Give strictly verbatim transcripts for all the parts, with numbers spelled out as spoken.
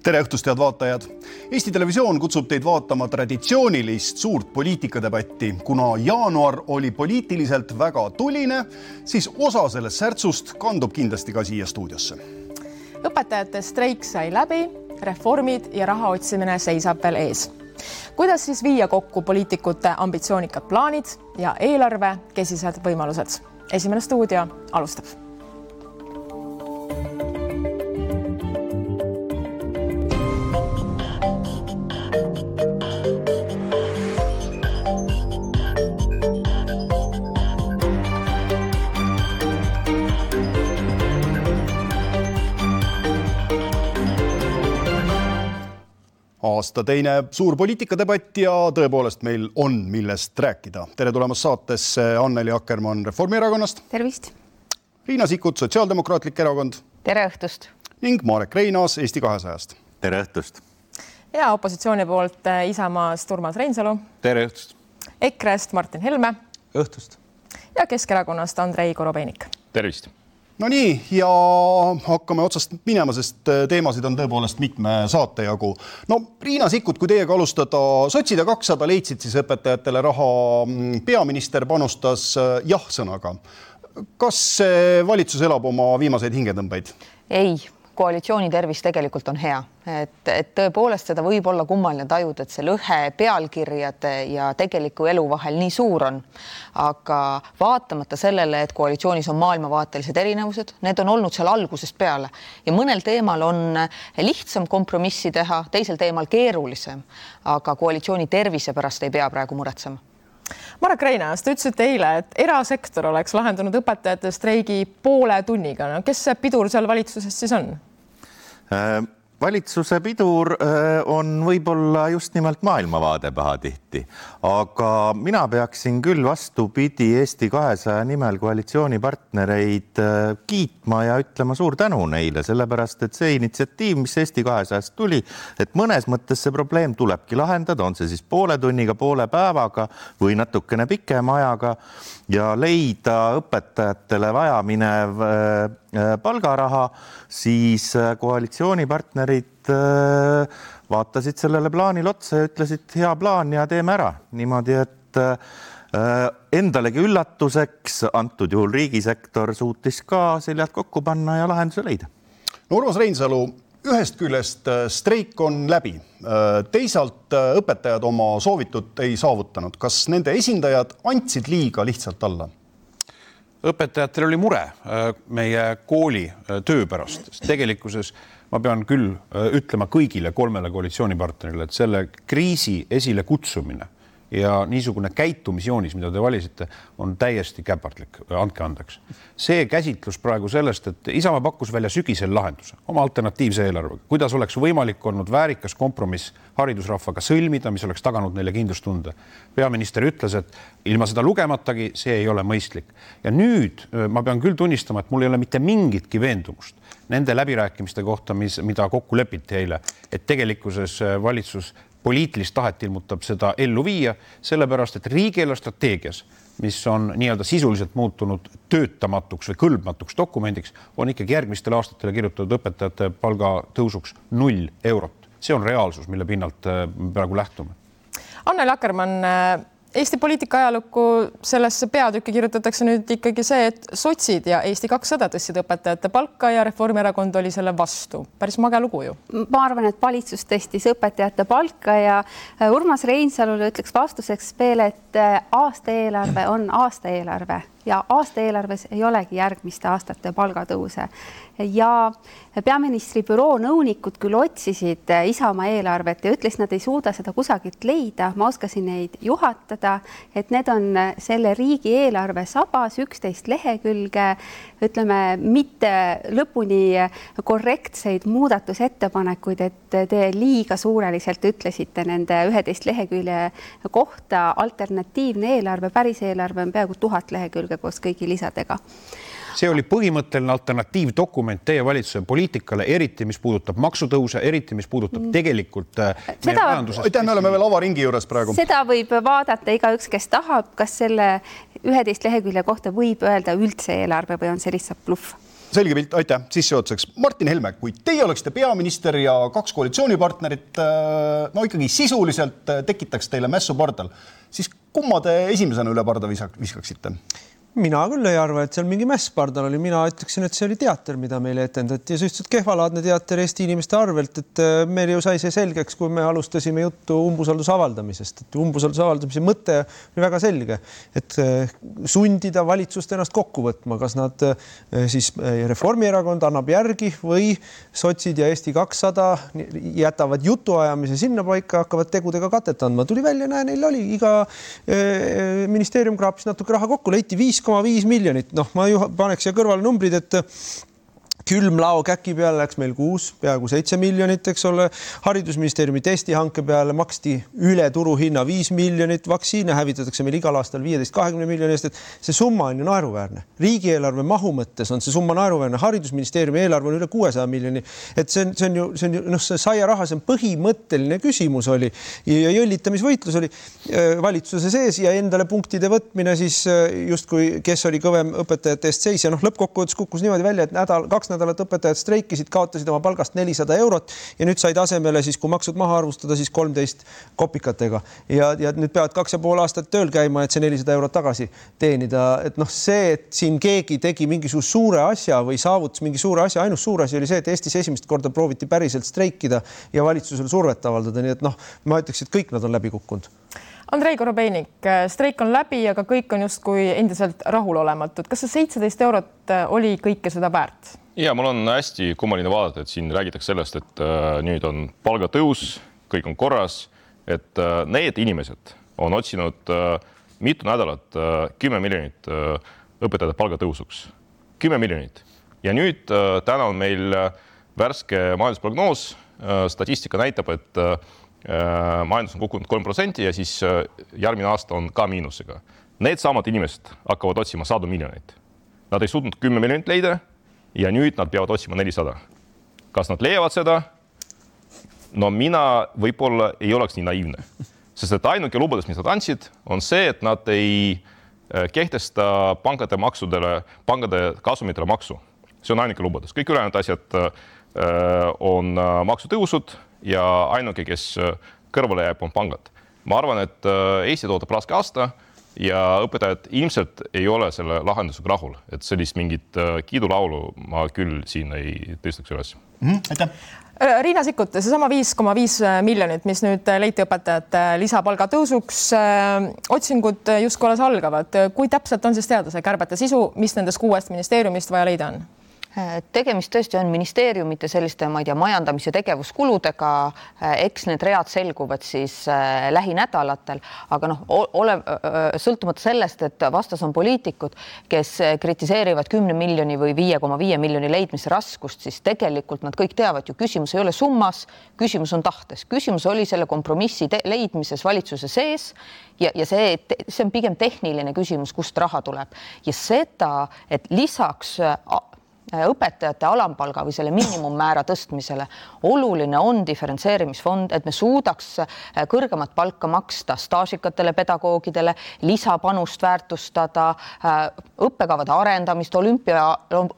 Tere õhtust, head vaatajad! Eesti Televisioon kutsub teid vaatama traditsioonilist suurt poliitikadebatti. Kuna jaanuar oli poliitiliselt väga tuline, siis osa sellest särtsust kandub kindlasti ka siia stuudiosse. Õpetajate streik sai läbi, reformid ja raha otsimine seisab veel ees. Kuidas siis viia kokku poliitikute ambitsioonikad plaanid ja eelarve kesised võimalused? Esimene stuudio alustab. Aasta teine suur poliitikadebatt ja tõepoolest meil on millest rääkida. Tere tulemast saatesse Anneli Akkermann Reformierakonnast. Tervist. Riina Sikkut, Sotsiaaldemokraatlik erakond. Tere õhtust. Ning Marek Reinaas Eesti kahesajast. Tere õhtust. Ja opositsiooni poolt Isamaast Urmas Reinsalu. Tere õhtust. Ekrest Martin Helme. Õhtust. Ja Keskerakonnast Andrei Korobeinik. Tervist. No nii, ja hakkame otsast minema, sest teemasid on tõepoolest mitme saate jagu. No Riina Sikkut, kui teiega alustada, sotsid ja kakssada leidsid siis õpetajatele raha, peaminister panustas jah-sõnaga. Kas valitsus elab oma viimaseid hingetõmbeid? Ei, koalitsiooni tervis tegelikult on hea. Et, et tõepoolest seda võib olla kummaline tajuda, et see lõhe pealkirjade ja tegeliku elu vahel nii suur on. Aga vaatamata sellele, et koalitsioonis on maailmavaatelised erinevused, need on olnud seal algusest peale. Ja mõnel teemal on lihtsam kompromissi teha, teisel teemal keerulisem, aga koalitsiooni tervise pärast ei pea praegu muretsema. Marek Reinaas, te ütlesite eile, et erasektor oleks lahendanud õpetajate streigi poole tunniga. No, kes see pidur seal valitsuses siis on? Äh, valitsuse pidur äh, on võib-olla just nimelt maailmavaade pahatihti, aga mina peaksin küll vastupidi Eesti kahesaja nimel koalitsioonipartnereid äh, kiitma ja ütlema suur tänu neile, sellepärast et see initsiatiiv, mis Eesti kahesajast tuli, et mõnes mõttes see probleem tulebki lahendada, on see siis poole tunniga, poole päevaga või natukene pikema ajaga ja leida õpetajatele vajaminev palgaraha, siis koalitsioonipartnerid vaatasid sellele plaanil otsa ja ütlesid hea plaan ja teeme ära. Niimoodi, et endalegi üllatuseks antud juhul riigisektor suutis ka seljad kokku panna ja lahenduse leida. No Urmas Reinsalu, ühest küljest streik on läbi. Teisalt õpetajad oma soovitut ei saavutanud. Kas nende esindajad andsid liiga lihtsalt alla? Õpetajatel oli mure meie kooli töö pärast. Tegelikkuses ma pean küll ütlema kõigile kolmele koalitsioonipartnerile, et selle kriisi esile kutsumine ja niisugune käitumisjoonis, mida te valisite, on täiesti käpardlik, andke andeks. See käsitlus praegu sellest, et Isamaa pakkus välja sügisel lahenduse, oma alternatiivse eelarvega, kuidas oleks võimalik olnud väärikas kompromiss haridusrahvaga sõlmida, mis oleks taganud neile kindlustunde. Peaminister ütles, et ilma seda lugematagi see ei ole mõistlik. Ja nüüd ma pean küll tunnistama, et mul ei ole mitte mingitki veendumust nende läbirääkimiste kohta, mis, mida kokku lepiti eile, et tegelikkuses valitsus poliitilist tahet ilmutab seda ellu viia, sellepärast, et riigieelarve strateegias, mis on nii-öelda sisuliselt muutunud töötamatuks või kõlbmatuks dokumendiks, on ikkagi järgmistel aastatele kirjutatud õpetajate palga tõusuks null eurot. See on reaalsus, mille pinnalt praegu lähtume. Anneli Akkermann, Eesti poliitika ajalukku sellesse peatükki kirjutatakse nüüd ikkagi see, et sotsid ja Eesti kakssada tõstsid õpetajate palka ja Reformierakond oli selle vastu. Päris mage lugu ju. Ma arvan, et valitsus tõstis õpetajate palka ja Urmas Reinsalule ütleks vastuseks veel, et aasta eelarve on aasta eelarve ja aasta eelarves ei olegi järgmiste aastate palgatõuse. Ja peaministri büroo nõunikud küll otsisid Isamaa eelarvet ja ütles, nad ei suuda seda kusagilt leida. Ma oskasin neid juhatada, et need on selle riigi eelarve sabas, üksteist lehekülge, ütleme, mitte lõpuni korrektseid muudatusettepanekuid, et te liiga suureliselt ütlesite nende üheteist lehekülje kohta. Alternatiivne eelarve, päris eelarve on peaaegu tuhat lehekülge koos kõigi lisadega. See oli põhimõtteline alternatiivdokument teie valitsuse poliitikale, eriti mis puudutab maksutõuse, eriti mis puudutab tegelikult meie majandusest. Aitäh, me oleme veel avaringi juures praegu. Seda võib vaadata igaüks, kes tahab, kas selle üheteist lehekülje kohta võib öelda üldse eelarve või on see lihtsalt bluff. selge pilt, aitäh sissejuhatuseks. Martin Helme, kui teie oleksite peaminister ja kaks koalitsioonipartnerit no ikkagi sisuliselt tekitaks teile mässu pardal, siis kumma te esimesena üle parda viskaksite? Mina küll ei arva, et seal mingi mäss pardal oli. Mina ütleksin, et see oli teater, mida meile etendati ja suhteliselt kehvalaadne teater Eesti inimeste arvelt, et meil ju sai see selgeks, kui me alustasime juttu umbusalduse avaldamisest. Et umbusalduse avaldamise mõte oli väga selge, et sundida valitsust ennast kokku võtma, kas nad siis Reformierakond annab järgi või sotsid ja Eesti kakssada jätavad jutuajamise sinna paika, hakkavad tegudega katet andma. Tuli välja, näe, neil oli iga ministeerium kraapis natuke raha kokku, leiti viis koma viis miljonit. Noh, ma ju paneks siia kõrvale numbrid, et külmlao käki peale läks meil kuus, peaaegu seitse miljonit, eks ole. Haridusministeeriumi testihanke peale maksti üle turuhinna viis miljonit, vaktsiine hävitatakse meil igal aastal viieteist kahekümne miljoni eest, et see summa on ju naeruväärne. Riigieelarve mahu mõttes on see summa naeruväärne. Haridusministeeriumi eelarve on üle kuuesaja miljoni. Et see on, see on ju, see on ju, noh, see saia raha, see on põhimõtteline küsimus oli ja jõllitamisvõitlus oli valitsuse sees ja endale punktide võtmine siis justkui, kes oli kõvem õpetajate eest seis ja noh, lõppkokkuvõttes kukkus niimoodi välja, et nädal, kaks nädalat õpetajad streikisid, kaotasid oma palgast nelisada eurot ja nüüd said asemele siis, kui maksud maha arvustada, siis kolmteist kopikatega. Ja, ja nüüd peavad kaks ja pool aastat tööl käima, et see nelisada eurot tagasi teenida. Et noh, see, et siin keegi tegi mingisuguse suure asja või saavutas mingi suure asja, ainus suur asi oli see, et Eestis esimest korda prooviti päriselt streikida ja valitsusel survet avaldada. Nii et noh, ma ütleks, et kõik nad on läbi kukkunud. Andrei Korobeinik, streik on läbi, aga kõik on justkui endiselt rahulolematud. Kas see seitseteist eurot oli kõike seda väärt? Ja mul on hästi kummaline vaadata, et siin räägitakse sellest, et äh, nüüd on palgatõus, kõik on korras, et äh, need inimesed on otsinud äh, mitu nädalat äh, kümme miljonit äh, õpetajate palgatõusuks. kümme miljonit. Ja nüüd äh, täna on meil äh, värske majandusprognoos. Äh, statistika näitab, et äh, majandus on kukkunud kolm protsenti ja siis äh, järgmine aasta on ka miinusega. Need samad inimesed hakkavad otsima sadu miljoneid. Nad ei suutnud kümme miljonit leida ja nüüd nad peavad otsima nelisada. Kas nad leiavad seda? No mina võib-olla ei oleks nii naiivne. Sest et ainuke lubadus, mis nad andsid, on see, et nad ei kehtesta pankade maksudele, pankade kasumitele maksu. See on ainuke lubadus. Kõik ülejäänud asjad on maksutõusud ja ainuke, kes kõrvale jääb, on pangad. Ma arvan, et Eesti tootab raske aasta ja õpetajad ilmselt ei ole selle lahendusega rahul, et sellist mingit kiidulaulu ma küll siin ei tõstaks üles. Mm, aitäh. Riina Sikkut, see sama viis koma viis miljonit, mis nüüd leiti õpetajate lisapalga tõusuks, otsingud justkui alles algavad. Kui täpselt on siis teada see kärbete sisu, mis nendest kuuest ministeeriumist vaja leida on? Tegemist tõesti on ministeeriumite selliste, ma ei tea, majandamise tegevuskuludega. Eks need read selguvad siis lähinädalatel, aga noh, ole sõltumata sellest, et vastas on poliitikud, kes kritiseerivad kümne miljoni või viie koma viie miljoni leidmise raskust, siis tegelikult nad kõik teavad ju, küsimus ei ole summas, küsimus on tahtes. Küsimus oli selle kompromissi leidmises valitsuse sees ja, ja see, see on pigem tehniline küsimus, kust raha tuleb. Ja seda, et lisaks õpetajate alampalga või selle miinimummäära tõstmisele oluline on diferentseerimisfond, et me suudaks kõrgemat palka maksta staažikatele pedagoogidele, lisapanust väärtustada, õppekavade arendamist, olümpia,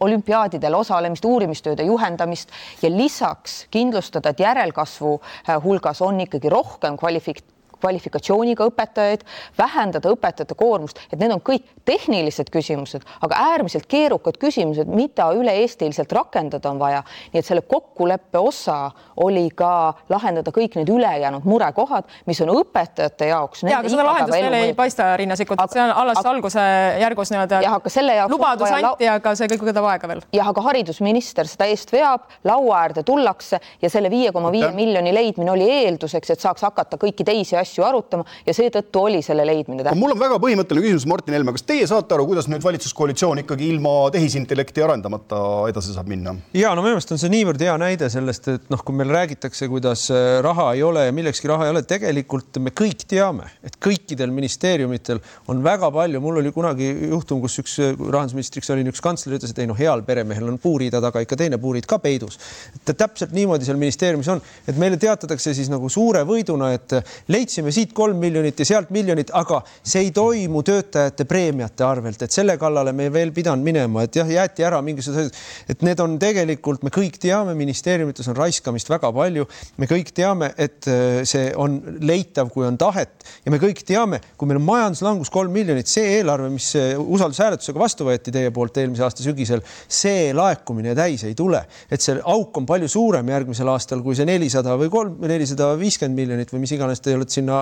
olümpiaadidel osalemist, uurimistööde juhendamist ja lisaks kindlustada, et järelkasvu hulgas on ikkagi rohkem kvalifik- kvalifikatsiooniga õpetajaid, vähendada õpetajate koormust, et need on kõik tehnilised küsimused, aga äärmiselt keerukad küsimused, mida üle-eestiliselt rakendada on vaja. Nii et selle kokkuleppe osa oli ka lahendada kõik need ülejäänud murekohad, mis on õpetajate jaoks. Ja, aga seda lahendust veel ei paista, Riina Sikkut, see on alles aga, alguse järgus niimoodi, ja, aga selle jaoks lubadus anti, aga see kõik võtab aega veel. Ja, aga haridusminister seda eest veab, laua äärde tullakse ja selle viie koma viie miljoni leidmine oli eelduseks, et saaks hakata kõiki teisi asju arutama ja seetõttu oli selle leidmine tähtis. Mul on väga põhimõtteline küsimus, Martin Helme, kas teie saate aru, kuidas nüüd valitsuskoalitsioon ikkagi ilma tehisintellekti arendamata edasi saab minna? Ja, no minu meelest on see niivõrd hea näide sellest, et noh, kui meil räägitakse, kuidas raha ei ole ja millekski raha ei ole, tegelikult me kõik teame, et kõikidel ministeeriumitel on väga palju. Mul oli kunagi juhtum, kus üks rahandusministriks oli üks kantsler, ütles, et ei, no heal peremehel on puuriida taga ikka teine puurid ka peidus. Et täpselt niimoodi seal ministeeriumis on, et meile teatatakse siis nagu suure võiduna, et leidsid otsime siit kolm miljonit ja sealt miljonit, aga see ei toimu töötajate preemiate arvelt, et selle kallale me veel pidanud minema, et jah, jäeti ära mingisugused, et need on tegelikult, me kõik teame, ministeeriumites on raiskamist väga palju, me kõik teame, et see on leitav, kui on tahet ja me kõik teame, kui meil on majanduslangus kolm miljonit, see eelarve, mis usaldushääletusega vastu võeti teie poolt eelmise aasta sügisel, see laekumine täis ei tule, et see auk on palju suurem järgmisel aastal, kui see nelisada või kolm, nelisada viiskümmend miljonit või mis iganes te olete sinna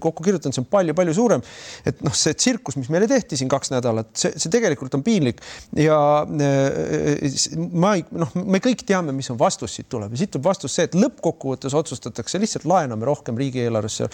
kokku kirjutanud, see on palju-palju suurem. Et noh, see tsirkus, mis meile tehti siin kaks nädalat, see, see tegelikult on piinlik ja ma ei, noh, me kõik teame, mis on vastus siit tuleb ja siit tuleb vastus see, et lõppkokkuvõttes otsustatakse, lihtsalt laename rohkem riigieelarvesse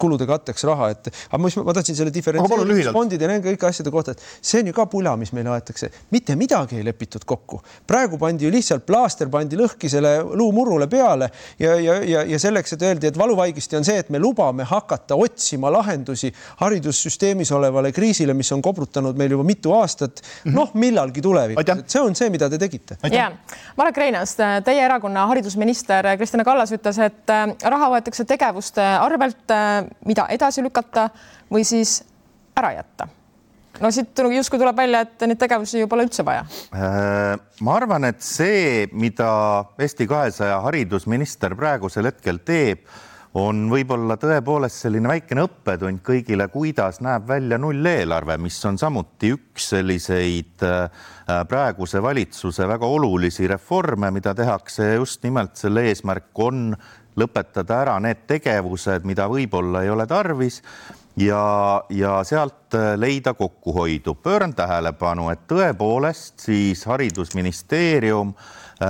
kulude katteks raha, et aga ma, ma tahtsin selle diferentseerimisfondid ja nende kõik asjade kohta, et see on ju ka pula, mis meile aetakse. Mitte midagi ei lepitud kokku. Praegu pandi ju lihtsalt plaaster pandi lõhki selle luumurule peale ja, ja, ja, ja selleks, et öeldi, et valuvaigisti on see, et me lubame hakata otsima lahendusi haridussüsteemis olevale kriisile, mis on kobrutanud meil juba mitu aastat, noh, millalgi tulevikus. See on see, mida te tegite. Ja. Marek Reinaas, teie erakonna haridusminister Kristina Kallas ütles, et raha võetakse tegevuste arvelt, mida edasi lükata või siis ära jätta. No siit justkui tuleb välja, et neid tegevusi ju pole üldse vaja. Ma arvan, et see, mida Eesti kahesaja haridusminister praegusel hetkel teeb, on võib-olla tõepoolest selline väikene õppetund kõigile, kuidas näeb välja nulleelarve, mis on samuti üks selliseid praeguse valitsuse väga olulisi reforme, mida tehakse just nimelt selle eesmärk on lõpetada ära need tegevused, mida võib-olla ei ole tarvis ja, ja sealt leida kokkuhoidu. Pööran tähelepanu, et tõepoolest siis haridusministeerium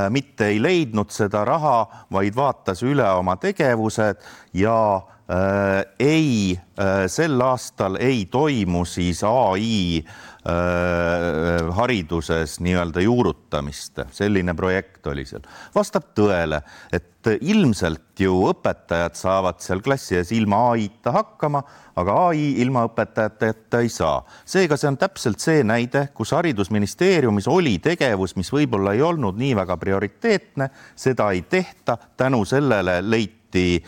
mitte ei leidnud seda raha, vaid vaatas üle oma tegevused ja äh, ei, äh, sel aastal ei toimu siis A I äh, hariduses nii-öelda juurutamist. Selline projekt oli seal. Vastab tõele, et ilmselt ju õpetajad saavad seal klassi ees ilma A I-ta hakkama, aga A I ilma õpetajateta ei saa. Seega see on täpselt see näide, kus haridusministeeriumis oli tegevus, mis võib-olla ei olnud nii väga prioriteetne, seda ei tehta, tänu sellele leiti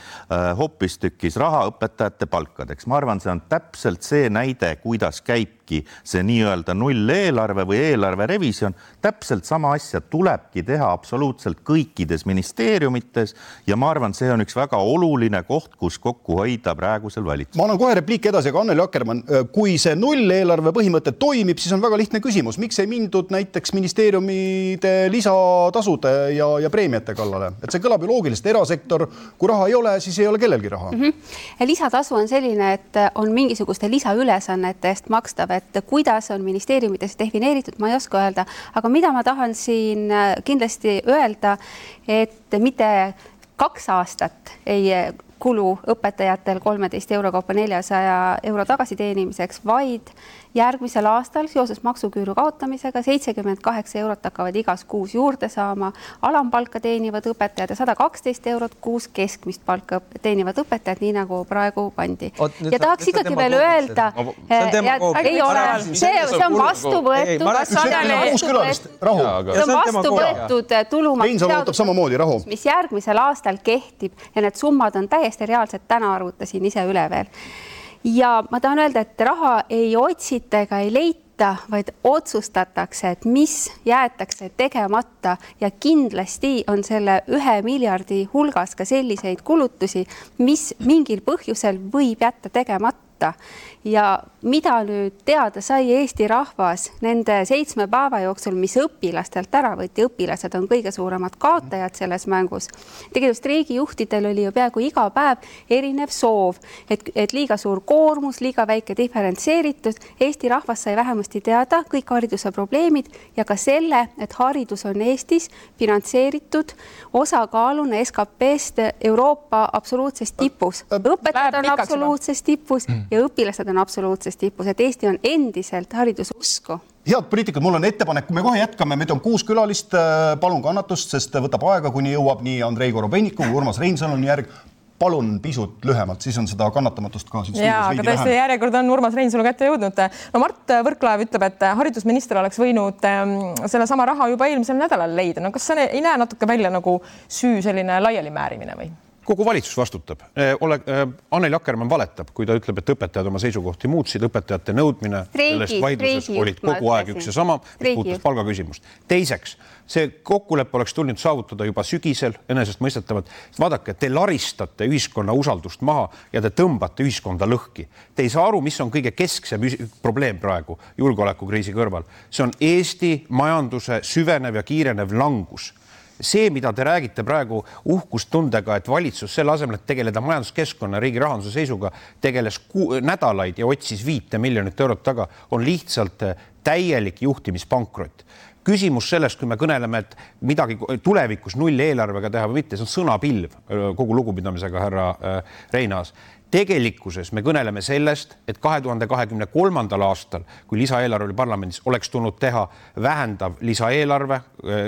hoopistükkis raha õpetajate palkadeks. Ma arvan, see on täpselt see näide, kuidas käibki see nii-öelda nulleelarve või eelarve revisjon. Täpselt sama asja tulebki teha absoluutselt kõikides ministeeriumites ja ma arvan, see on üks väga oluline koht, kus kokku hoida praegusel valitsusel. Ma annan kohe repliik edasi, aga Anneli Akkermann, kui see nulleelarve põhimõte toimib, siis on väga lihtne küsimus. Miks ei mindud näiteks ministeeriumide lisatasude ja, ja preemiate kallale? Et see kõlab ju loogiliselt, erasektor, kui raha ei ole, siis ei ole kellelgi raha. Mm-hmm. Lisatasu on selline, et on mingisuguste lisaülesannete eest makstav, et kuidas on ministeeriumites defineeritud, ma ei oska öelda, aga mida ma tahan siin kindlasti öelda, et mitte kaks aastat ei kulu õpetajatel kolmeteist euro kaupa neljasaja euro tagasiteenimiseks, vaid järgmisel aastal seoses maksuküüru kaotamisega seitsekümmend kaheksa eurot hakkavad igas kuus juurde saama, alampalka teenivad õpetajad ja sada kaksteist eurot kuus keskmist palka teenivad õpetajad, nii nagu praegu pandi. Oot, ja tahaks ikkagi veel öelda, ei ole, see, see on vastu võetud, see on vastu võetud tulumaksuseadus, mis järgmisel aastal kehtib ja need summad on täiesti reaalselt, täna arvutasin ise üle veel. Ja ma tahan öelda, et raha ei otsita ega ei leita, vaid otsustatakse, et mis jäetakse tegemata ja kindlasti on selle ühe miljardi hulgas ka selliseid kulutusi, mis mingil põhjusel võib jätta tegemata. Ja mida nüüd teada sai Eesti rahvas nende seitsme päeva jooksul, mis õpilastelt ära võeti, õpilased on kõige suuremad kaotajad selles mängus. Tegelikult streegijuhtidel oli ju peaaegu iga päev erinev soov, et, et liiga suur koormus, liiga väike diferentseeritud. Eesti rahvas sai vähemasti teada kõik hariduse probleemid ja ka selle, et haridus on Eestis finantseeritud osakaaluna S K P-st Euroopa absoluutses tipus. Õpetajad on absoluutses tipus ja õpilased on absoluutses tipus, et Eesti on endiselt hariduse usku. Head poliitikud, mul on ettepanek, kui me kohe jätkame, meid on kuus külalist, palun kannatust, sest võtab aega, kuni jõuab nii Andrei Korobeiniku kui Urmas Reinsaluni järg. Palun pisut lühemalt, siis on seda kannatamatust ka. Jaa, aga tõesti järjekord on Urmas Reinsalu kätte jõudnud. No Mart Võrklaev ütleb, et haridusminister oleks võinud selle sama raha juba eelmisel nädalal leida. No kas see ei näe natuke välja nagu süü selline laiali määrimine või? kogu valitsus vastutab. Ole, Anneli Akkermann valetab, kui ta ütleb, et õpetajad oma seisukohti muutsid, õpetajate nõudmine Streigi, sellest vaidluses streigi, olid kogu aeg üks ja sama, mis puudutas palgaküsimust. Teiseks, see kokkulepe oleks tulnud saavutada juba sügisel, enesestmõistetavalt. Vaadake, te laristate ühiskonna usaldust maha ja te tõmbate ühiskonda lõhki. Te ei saa aru, mis on kõige kesksem probleem praegu julgeolekukriisi kõrval. See on Eesti majanduse süvenev ja kiirenev langus. See, mida te räägite praegu uhkustundega, et valitsus selle asemel, et tegeleda majanduskeskkonna riigi rahanduse seisuga, tegeles ku- nädalaid ja otsis viite miljonit eurot taga, on lihtsalt täielik juhtimispankrot. Küsimus sellest, kui me kõneleme, et midagi tulevikus null eelarvega teha või mitte, see on sõnapilv kogu lugupidamisega, härra Reinaas. Tegelikkuses me kõneleme sellest, et kahe tuhande kahekümne kolmandal aastal, kui lisaeelarve oli parlamendis, oleks tulnud teha vähendav lisaeelarve,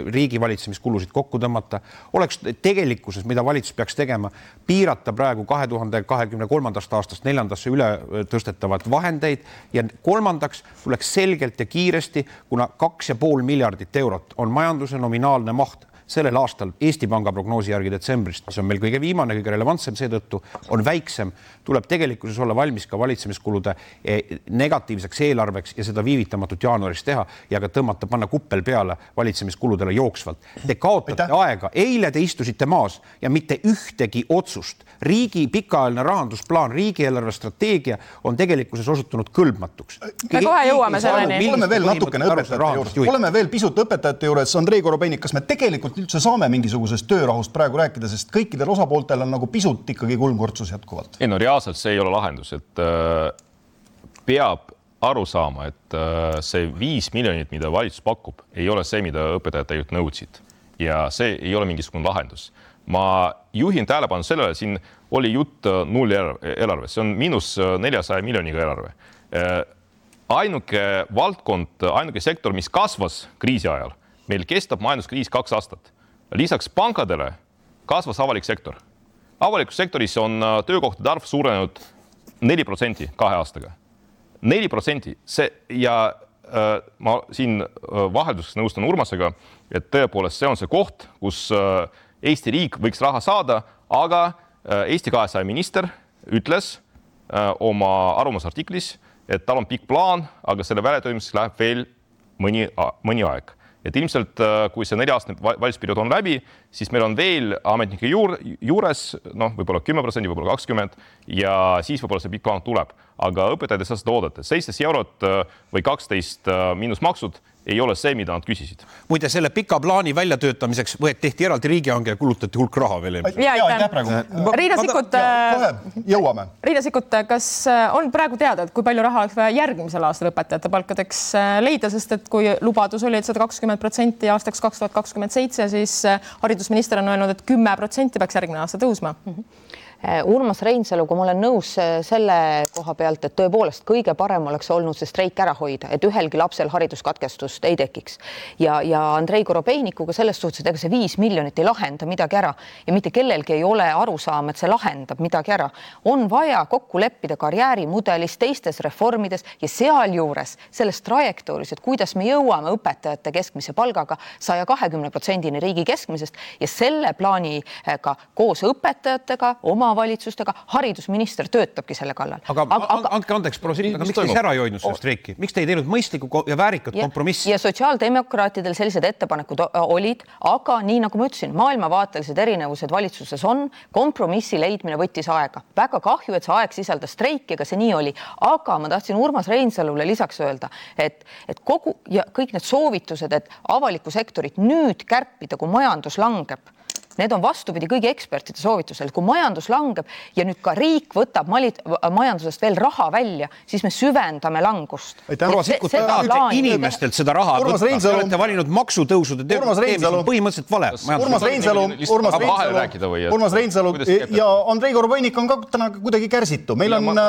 riigivalitsemiskulusid kokku tõmmata, oleks tegelikkuses, mida valitsus peaks tegema, piirata praegu kahe tuhande kahekümne kolmandast aastast neljandasse üle tõstetavad vahendeid ja kolmandaks tuleks selgelt ja kiiresti, kuna kaks ja pool miljardit eurot on majanduse nominaalne maht sellel aastal Eesti Panga prognoosi järgi detsembrist, mis on meil kõige viimane, kõige relevantsem seetõttu, on väiksem, tuleb tegelikkuses olla valmis ka valitsemiskulude negatiivseks eelarveks ja seda viivitamatut jaanuaris teha ja ka tõmmata, panna kuppel peale valitsemiskuludele jooksvalt. Te kaotate Aitäh. aega, eile te istusite maas ja mitte ühtegi otsust. Riigi pikaajaline rahandusplaan, riigieelarve strateegia on tegelikkuses osutunud kõlbmatuks. Me kohe jõuame selleni. Oleme veel natukene õpetajate juures. Oleme veel pisut õpetajate juures. Andrei Korobeinik, kas me tegelikult üldse saame mingisugusest töörahust praegu rääkida, sest kõikidel osapooltel on nagu pisut ikkagi kulmkortsus jätkuvalt? Ei, no reaalselt see ei ole lahendus, et äh, peab aru saama, et äh, see viis miljonit, mida valitsus pakub, ei ole see, mida õpetajad tegelikult nõudsid. Ja see ei ole mingisugune lahendus. Ma juhin tähelepanu sellele, siin oli jutt null eelarve, see on miinus neljasaja miljoniga eelarve. Äh, ainuke valdkond, ainuke sektor, mis kasvas kriisi ajal, meil kestab majanduskriis kaks aastat. Lisaks pankadele kasvas avalik sektor. Avalikus sektoris on töökohtade arv suurenenud neli protsenti kahe aastaga. neli protsenti. See, ja äh, ma siin vahelduseks nõustan Urmasega, et tõepoolest see on see koht, kus äh, Eesti riik võiks raha saada, aga äh, Eesti kahesaja minister ütles äh, oma arvamusartiklis, et tal on pikk plaan, aga selle väljatöömiseks läheb veel mõni, mõni aeg. Et ilmselt, kui see nelja-aastane valitsusperiood on läbi, siis meil on veel ametnike juur, juures, noh, võib-olla kümme protsenti, võib-olla kakskümmend ja siis võib-olla see pikk plaan tuleb. Aga õpetajad ei saa seda oodata. seitseteist eurot või kaksteist miinus maksud ei ole see, mida nad küsisid. Muide, selle pika plaani väljatöötamiseks võet tehti eraldi riigihange ja kulutati hulk raha veel. Ja, Riina Sikkut, jõuame. Riina Sikkut, kas on praegu teada, et kui palju raha oleks vaja järgmisel aastal õpetajate palkadeks leida, sest et kui lubadus oli, et sada kakskümmend protsenti aastaks kaks tuhat kakskümmend seitse, siis haridusminister on öelnud, et kümme protsenti peaks järgmine aasta tõusma. Urmas Reinsalu, kui ma olen nõus selle koha pealt, et tõepoolest kõige parem oleks olnud see streik ära hoida, et ühelgi lapsel hariduskatkestust ei tekiks. Ja, ja Andrei Korobeinikuga selles suhtes, et ega see viis miljonit ei lahenda midagi ära ja mitte kellelgi ei ole aru saama, et see lahendab midagi ära. On vaja kokku leppida karjäärimudelis, teistes reformides ja sealjuures selles trajektooris, et kuidas me jõuame õpetajate keskmise palgaga saja kahekümne protsendini riigi keskmisest ja selle plaaniga koos õpetajatega, oma valitsustega, haridusminister töötabki selle kallal. Aga, aga andke andeks, Prosiit, aga miks te ära ei hoidnud selle streiki? Miks te ei teinud mõistlikku ja väärikat ja, kompromissi? Ja sotsiaaldemokraatidel sellised ettepanekud olid, aga nii nagu ma ütlesin, maailmavaatelised erinevused valitsuses on, kompromissi leidmine võttis aega. Väga kahju, et see aeg sisaldas streiki, aga see nii oli. Aga ma tahtsin Urmas Reinsalule lisaks öelda, et, et kogu ja kõik need soovitused, et avaliku sektorit nüüd kärpida, kui majandus langeb, need on vastupidi kõigi ekspertide soovitusel. Kui majandus langeb ja nüüd ka riik võtab majandusest veel raha välja, siis me süvendame langust. Proua Sikkut, inimestelt seda raha võtta. Te olete valinud maksutõusude teemis põhimõtteliselt vale. Urmas Reinsalu, Urmas Reinsalu, Urmas Reinsalu ja Andrei Korobeinik on ka täna kuidagi kärsitu. Meil on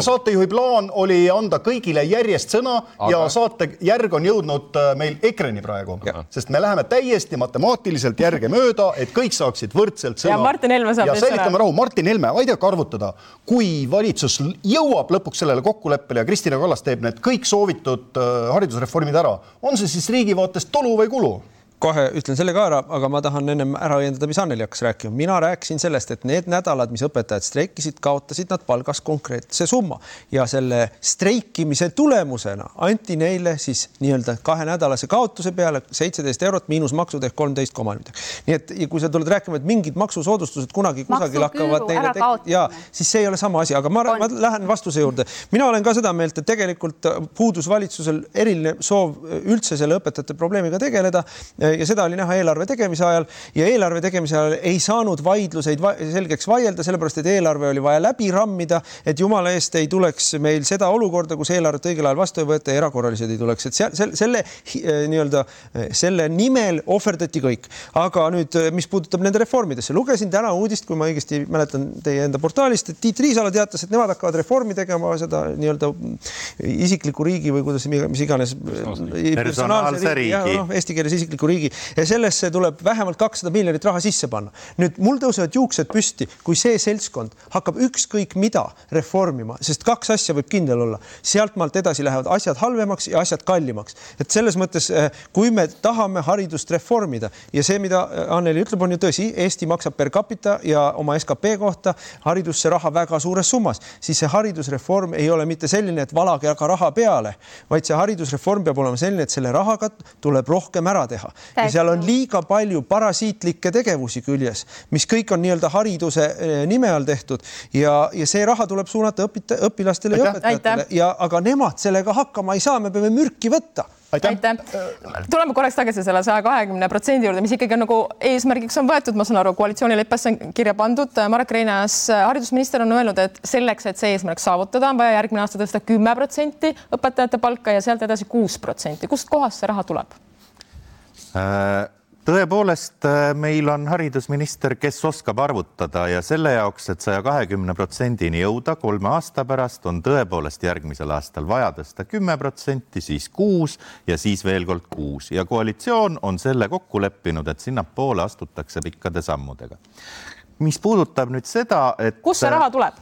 saatejuhi plaan oli anda kõigile järjest sõna ja saate järg on jõudnud meil ekreni praegu, sest me läheme täiesti matemaatiliselt järge mööda, et kõik saaksid võrdselt sõna. Ja Martin Helme saab ja säilitame rahu. Martin Helme, aidake arvutada, kui valitsus jõuab lõpuks sellele kokkuleppele ja Kristina Kallas teeb need kõik soovitud haridusreformid ära, on see siis riigi vaatest tolu või kulu? kohe ütlen selle ka ära, aga ma tahan ennem ära õiendada, mis Anneli hakkas rääkima. Mina rääkisin sellest, et need nädalad, mis õpetajad streikisid, kaotasid nad palgas konkreetse summa ja selle streikimise tulemusena anti neile siis nii-öelda kahe nädalase kaotuse peale seitseteist eurot miinus maksud ehk kolmteist koma midagi. Nii et ja kui sa tuled rääkima, et mingid maksusoodustused kunagi kusagil hakkavad neile tek- ja siis see ei ole sama asi, aga ma, ma lähen vastuse juurde. Mina olen ka seda meelt, et tegelikult puudus valitsusel eriline soov üldse selle õpetajate probleemiga tegeleda ja seda oli näha eelarve tegemise ajal ja eelarve tegemise ajal ei saanud vaidluseid va selgeks vaielda, sellepärast et eelarve oli vaja läbi rammida, et jumala eest ei tuleks meil seda olukorda, kus eelarvet õigel ajal vastu ei võeta ja erakorralised ei tuleks. Et selle, selle, nii-öelda, selle nimel ohverdati kõik. Aga nüüd, mis puudutab nende reformidesse, lugesin täna uudist, kui ma õigesti mäletan teie enda portaalist, et Tiit Riisalo teatas, et nemad hakkavad reformi tegema seda nii-öelda isikliku riigi või kuidas, mis iganes personaalse riigi, riigi. Ja, no, eesti keeles isikliku riigi ja sellesse tuleb vähemalt kakssada miljonit raha sisse panna. Nüüd mul tõusevad juuksed püsti, kui see seltskond hakkab ükskõik mida reformima, sest kaks asja võib kindel olla. Sealt maalt edasi lähevad asjad halvemaks ja asjad kallimaks. Et selles mõttes, kui me tahame haridust reformida ja see, mida Anneli ütleb, on ju tõsi, Eesti maksab per capita ja oma S K P kohta haridusse raha väga suures summas, siis see haridusreform ei ole mitte selline, et valage aga raha peale, vaid see haridusreform peab olema selline, et selle rahaga tuleb rohkem ära teha. Ja seal on liiga palju parasiitlikke tegevusi küljes, mis kõik on nii-öelda hariduse nime all tehtud ja, ja see raha tuleb suunata õpita, õpilastele ja õpetajatele. Ja, aga nemad sellega hakkama ei saa, me peame mürki võtta. Aitäh. Tuleme korraks tagasi selle saja kahekümne protsendi juurde, mis ikkagi on nagu eesmärgiks on võetud, ma saan aru, koalitsioonileppesse on kirja pandud. Marek Reinaas, haridusminister on öelnud, et selleks, et see eesmärk saavutada, on vaja järgmine aasta tõsta kümme protsenti õpetajate palka ja sealt edasi kuus protsenti. Kust kohast see raha tuleb? Tõepoolest, meil on haridusminister, kes oskab arvutada ja selle jaoks, et saja kahekümne protsendini jõuda kolme aasta pärast, on tõepoolest järgmisel aastal vaja tõsta kümme protsenti, siis kuus ja siis veel kord kuus. Ja koalitsioon on selle kokku leppinud, et sinna poole astutakse pikkade sammudega. Mis puudutab nüüd seda, et... Kus see raha tuleb?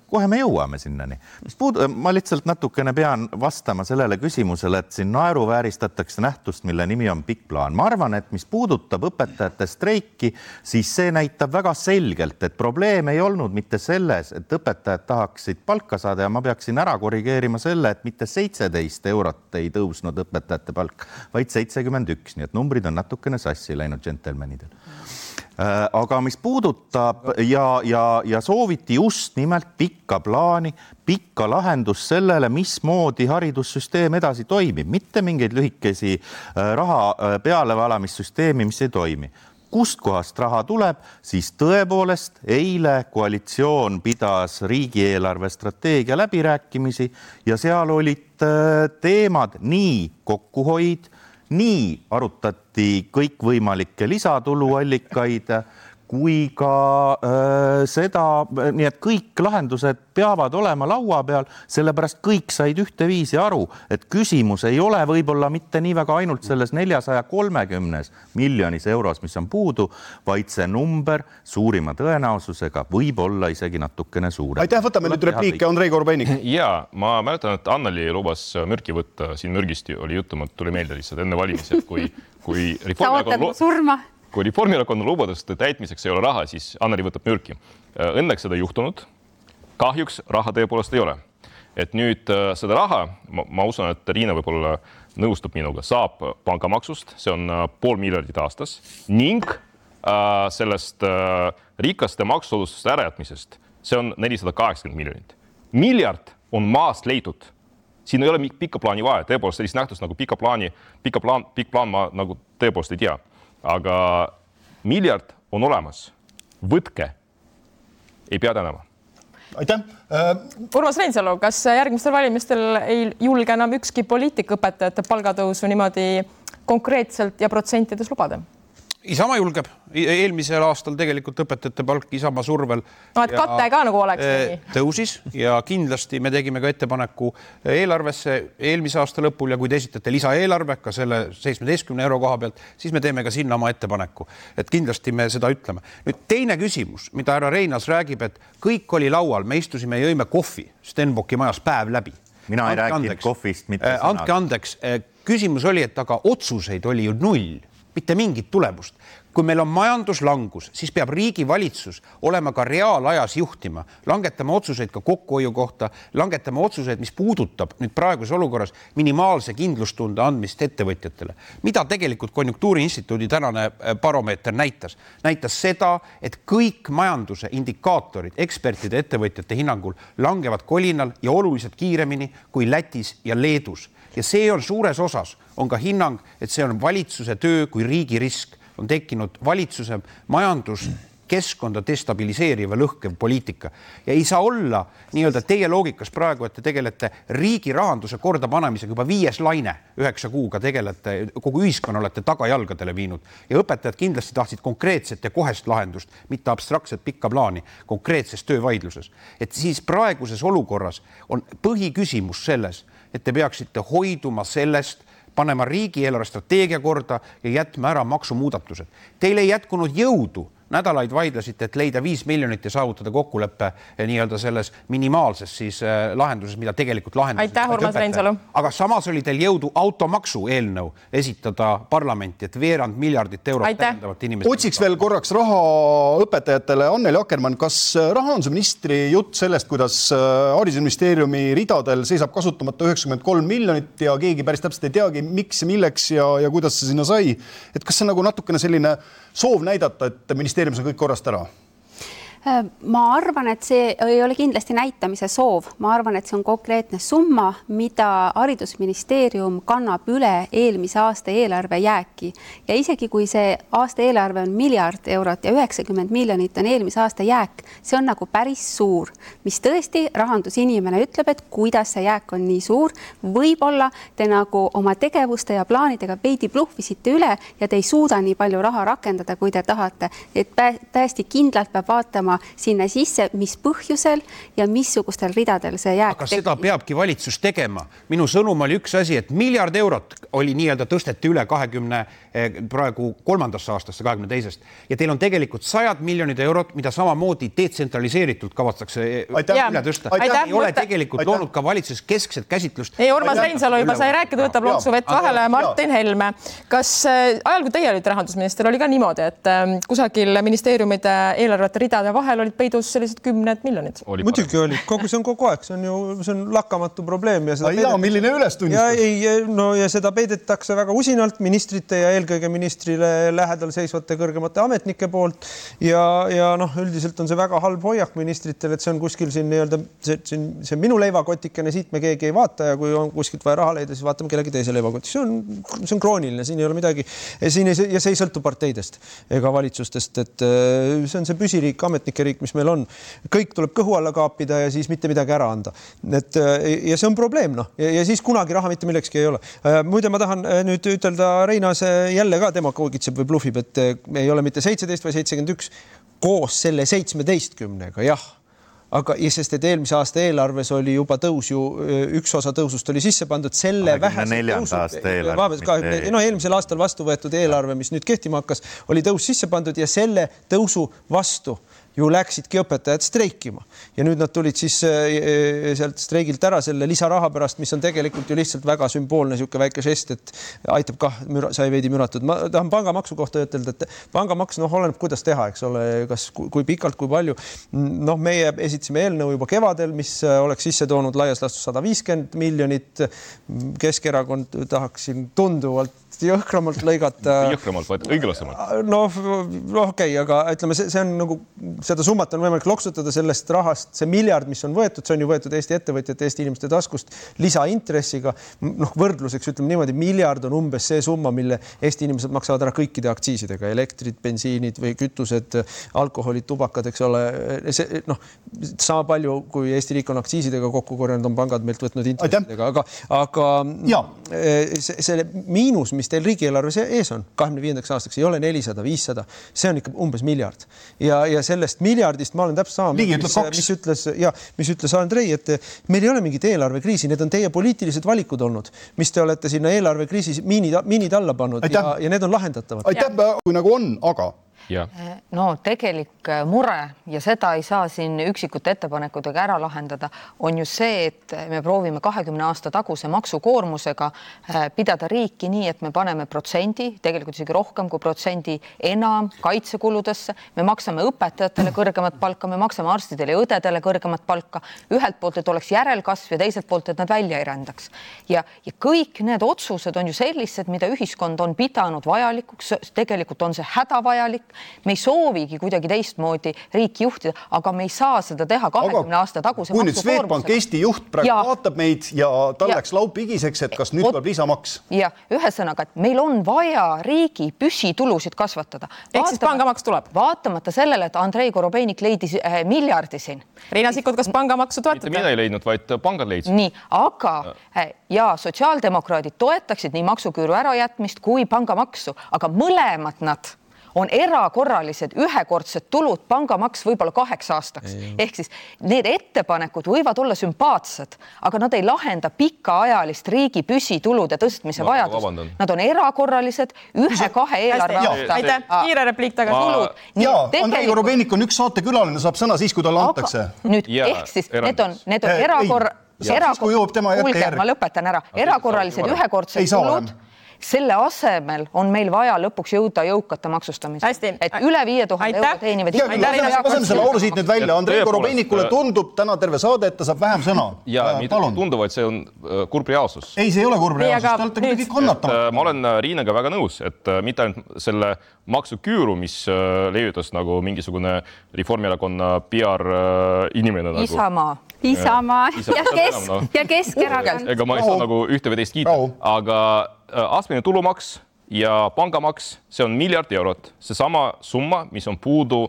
Kohe me jõuame sinnani. Mis puud... Ma lihtsalt natukene pean vastama sellele küsimusele, et siin naeruvääristatakse nähtust, mille nimi on pikk plaan. Ma arvan, et mis puudutab õpetajate streiki, siis see näitab väga selgelt, et probleem ei olnud mitte selles, et õpetajad tahaksid palka saada ja ma peaksin ära korrigeerima selle, et mitte seitseteist eurot ei tõusnud õpetajate palk, vaid seitsekümmend üks, nii et numbrid on natukene sassi läinud džentelmenidel. Aga mis puudutab ja, ja, ja sooviti just nimelt pikka plaani, pikka lahendus sellele, mismoodi haridussüsteem edasi toimib, mitte mingeid lühikesi raha pealevalamissüsteemi, mis ei toimi. Kust kohast raha tuleb, siis tõepoolest eile koalitsioon pidas riigieelarve strateegia läbirääkimisi ja seal olid teemad nii kokkuhoid, nii arutati kõikvõimalikke lisatuluallikaid, kui ka äh, seda, nii et kõik lahendused peavad olema laua peal, sellepärast kõik said ühteviisi aru, et küsimus ei ole võib-olla mitte nii väga ainult selles neljasaja kolmekümnes miljonis euros, mis on puudu, vaid see number suurima tõenäosusega võib olla isegi natukene suure. Aitäh, võtame nüüd repliike, Andrei Korobeinik. Ja, ma mäletan, et Anneli lubas mürki võtta, siin mürgist oli jutum, et tuli meelde lihtsalt enne valimisi, kui, kui Reformierakonna surma. Kui Reformierakonna lubaduste täitmiseks ei ole raha, siis Anneli võtab mürki. Õnneks seda juhtunud. Kahjuks raha tõepoolest ei ole. Et nüüd seda raha, ma, ma usun, et Riina võib-olla nõustub minuga, saab pangamaksust, see on pool miljardit aastas, ning äh, sellest äh, rikaste maksusoodustuste ärajätmisest, see on nelisada kaheksakümmend miljonit. Miljard on maast leitud. Siin ei ole pikka plaani vaja, tõepoolest sellist nähtust nagu pikka plaani, pikka plaan, pikk plaan ma nagu tõepoolest ei tea. Aga miljard on olemas. Võtke. Ei pea tänama. Aitäh. Urmas Reinsalu, kas järgmistel valimistel ei julge enam ükski poliitik õpetajate palgatõusu niimoodi konkreetselt ja protsentides lubada? Isamaa julgeb. Eelmisel aastal tegelikult õpetajate palk Isamaa survel no, et katte ka nagu oleks nii. Tõusis ja kindlasti me tegime ka ettepaneku eelarvesse eelmise aasta lõpul ja kui te esitate lisaeelarve ka selle seitsmeteistkümne euro koha pealt, siis me teeme ka sinna oma ettepaneku. Et kindlasti me seda ütleme. Nüüd teine küsimus, mida härra Reinaas räägib, et kõik oli laual, me istusime ja jõime kohvi Stenbocki majas päev läbi. Mina ei rääkinud kohvist mitte sõnad. Andke andeks, küsimus oli, et aga otsuseid oli ju null. mitte mingit tulemust. Kui meil on majanduslangus, siis peab riigi valitsus olema ka reaalajas juhtima, langetama otsuseid ka kokkuhoiu kohta, langetama otsuseid, mis puudutab nüüd praeguses olukorras minimaalse kindlustunde andmist ettevõtjatele. Mida tegelikult Konjunktuuriinstituudi tänane baromeeter näitas? Näitas seda, et kõik majanduse indikaatorid ekspertide ettevõtjate hinnangul langevad kolinal ja oluliselt kiiremini kui Lätis ja Leedus. Ja see on suures osas, on ka hinnang, et see on valitsuse töö kui riigi risk. On tekkinud valitsuse majanduskeskkonda destabiliseeriva lõhkev poliitika. Ja ei saa olla nii-öelda teie loogikas praegu, et te tegelete riigi rahanduse korda panemisega juba viies laine, üheksa kuuga tegelete, kogu ühiskonna olete tagajalgadele viinud. Ja õpetajad kindlasti tahtsid konkreetset ja kohest lahendust, mitte abstraktset pikka plaani konkreetses töövaidluses. Et siis praeguses olukorras on põhiküsimus selles, et te peaksite hoiduma sellest, panema riigieelarve strateegia korda ja jätma ära maksumuudatused. Teil ei jätkunud jõudu. Nädalaid vaidlasite, et leida viis miljonit ja saavutada kokkuleppe nii-öelda selles minimaalses siis lahenduses, mida tegelikult lahenduses. Aitäh, Urmas Reinsalu. Aga samas oli teil jõudu automaksu eelnõu esitada parlamenti, et veerand miljardit eurot täiendavat inimest. Otsiks veel korraks raha õpetajatele. Anneli Akkermann, kas rahandusministri jutt sellest, kuidas haridusministeeriumi ridadel seisab kasutamata üheksakümmend kolm miljonit ja keegi päris täpselt ei teagi, miks ja milleks ja, ja kuidas see sinna sai, et kas see on nagu natukene selline soov näidata, et ministeeriumis on kõik korrast ära? Ma arvan, et see ei ole kindlasti näitamise soov. Ma arvan, et see on konkreetne summa, mida haridusministeerium kannab üle eelmise aasta eelarve jääki. Ja isegi kui see aasta eelarve on miljard eurot ja üheksakümmend miljonit on eelmise aasta jääk, see on nagu päris suur, mis tõesti rahandusinimene ütleb, et kuidas see jääk on nii suur. Võib-olla te nagu oma tegevuste ja plaanidega veidi bluffisite üle ja te ei suuda nii palju raha rakendada, kui te tahate. Et täiesti kindlalt peab vaatama sinna sisse, mis põhjusel ja missugustel ridadel see jääk. Aga seda peabki valitsus tegema. Minu sõnum oli üks asi, et miljard eurot oli nii-öelda tõsteti üle kahekümne praegu kolmandasse aastasse, kahekümne teisest. Ja teil on tegelikult sajad miljonid eurot, mida samamoodi detsentraliseeritult kavatstakse üle tõsta. Aitäh. Ei ole tegelikult Aitäh. Loonud ka valitsuses keskset käsitlust. Ei, Urmas Reinsalu juba sai rääkida, võtab lonksu vett vahele. Martin Helme, kas ajal, kui teie olite rahandusminister, oli ka niimoodi, et kusagil ministeeriumide eelarvete ridade vahel olid peidus sellised kümned miljonid? Muidugi oli. Kogu see on kogu aeg. See on ju see on lakkamatu probleem. Ja seda ja, milline ülestunnistus? Ja, ei, no, ja seda peidetakse väga usinalt ministrite ja eelkõige ministrile lähedal seisvate kõrgemate ametnike poolt. Ja, ja noh, üldiselt on see väga halb hoiak ministritel, et see on kuskil siin nii-öelda, see, see, see on minu leivakotikene, siit me keegi ei vaata ja kui on kuskilt vaja raha leida, siis vaatame kellegi teise leivakotti. See on, see on krooniline, siin ei ole midagi. Siin ei, ja see ei sõltu parteidest ega valitsustest, et see on see püsiriik, ametnike riik, mis meil on. Kõik tuleb kõhu alla kaapida ja siis mitte midagi ära anda. Et, ja see on probleem, noh. Ja, ja siis kunagi raha mitte millekski ei ole. Muide, ma tahan nüüd ütelda Reinas jälle ka tema koogitseb või bluffib, et ei ole mitte seitseteist või seitsekümmend üks koos selle seitsmeteistkümnega, jah. Aga sest, et eelmise aasta eelarves oli juba tõus ju, üks osa tõusust oli sisse pandud selle vähese tõusu. No, eelmisel aastal vastu võetud eelarve, mis nüüd kehtima hakkas, oli tõus sisse pandud ja selle tõusu vastu ju läksidki õpetajad streikima. Ja nüüd nad tulid siis sealt streigilt ära selle lisaraha pärast, mis on tegelikult ju lihtsalt väga sümboolne siuke väike žest, et aitab kah, müra, sai veidi müratud. Ma tahan pangamaksu kohta ütelda, et pangamaks, noh, oleneb, kuidas teha, eks ole, kas, kui pikalt, kui palju. Noh, meie esitasime eelnõu juba kevadel, mis oleks sisse toonud laias laastus sada viiskümmend miljonit. Keskerakond tahaksin tunduvalt jõhkramalt lõigata. Jõhkramalt, vaid õiglasemalt. No, no okei, okay, aga ütleme, see, see on nagu, seda summat on võimalik loksutada sellest rahast, see miljard, mis on võetud, see on ju võetud Eesti ettevõtjate, Eesti inimeste taskust lisaintressiga. Noh, võrdluseks ütleme niimoodi, miljard on umbes see summa, mille Eesti inimesed maksavad ära kõikide aktsiisidega, elektrid, bensiinid või kütused, alkoholid, tubakad, eks ole. See, noh, sama palju, kui Eesti riik on aktsiisidega kokku korjanud, on pangad meilt võtnud intressidega, aga, aga see, see miinus, mis teil riigieelarves ees on kahekümne viiendaks aastaks, ei ole nelisada, viissada, see on ikka umbes miljard. Ja, ja sellest miljardist ma olen täpselt sama, mis, mis ütles, ja, mis ütles Andrei, et meil ei ole mingit eelarvekriisi, need on teie poliitilised valikud olnud, mis te olete sinna eelarvekriisi miinid, miinid alla pannud ja, ja need on lahendatavad. Aitäh, kui nagu on, aga no tegelik mure ja seda ei saa siin üksikute ettepanekutega ära lahendada, on ju see, et me proovime kahekümne aasta taguse maksukoormusega pidada riiki nii, et me paneme protsendi, tegelikult isegi rohkem kui protsendi enam kaitsekuludesse, me maksame õpetajatele kõrgemat palka, me maksame arstidele ja õdedele kõrgemat palka, ühelt poolt, et oleks järelkasv ja teiselt poolt, et nad välja ei rändaks. Ja, ja kõik need otsused on ju sellised, mida ühiskond on pidanud vajalikuks, tegelikult on see hädavajalik. Me ei soovigi kuidagi teistmoodi riiki juhtida, aga me ei saa seda teha kahekümne aasta taguse kui nüüd Swedbank Eesti juht praegu ja, vaatab meid ja tal ja, läks laupigiseks, et kas nüüd tuleb lisamaks? Ja ühesõnaga, et meil on vaja riigi püsitulusid kasvatada. Ehk siis pangamaks tuleb? Vaatamata sellele, et Andrei Korobeinik leidis äh, miljardi siin. Riina Sikkut, kas pangamaksu toetada? Mitte mina ei leidnud, vaid pangad leidsid. Nii, aga äh, ja sotsiaaldemokraadid toetaksid nii maksuküüru ärajätmist kui pangamaksu, aga mõlemad nad on erakorralised ühekordsed tulud, pangamaks võib-olla kaheks aastaks. Ei. Ehk siis need ettepanekud võivad olla sümpaatsed, aga nad ei lahenda pikaajalist riigi püsitulude tõstmise no, vajadust. Nad on erakorralised ühe-kahe eelarve aasta. Aitäh, kiire repliik tagasi. Ja, Andrei Korobeinik on üks saatekülaline, saab sõna siis, kui talle antakse. Nüüd, ja, ehk siis need on, need on erakor... Kuulge, ma lõpetan ära. Erakorralised ühekordsed tulud. Selle asemel on meil vaja lõpuks jõuda jõukate maksustamisega. Et üle viie tuhande euro teenivad. Laseme selle auru siit nüüd välja. Andrei Korobeinikule tundub täna terve saade, et ta saab vähem sõna. Ja mitte tundub, et see on kurb reaalsus. Ei, see ei ole kurb reaalsus. Te olete kõik kannatama. Ma olen Riinaga väga nõus, et mitte ainult selle maksuküüru, mis levitas nagu mingisugune Reformierakonna P R inimene. Isamaa. Isamaa ja, kes, ja Keskerakond. Ega ma ei saa nagu ühte või teist kiita, aga astmeline tulumaks ja pangamaks, see on miljard eurot. See sama summa, mis on puudu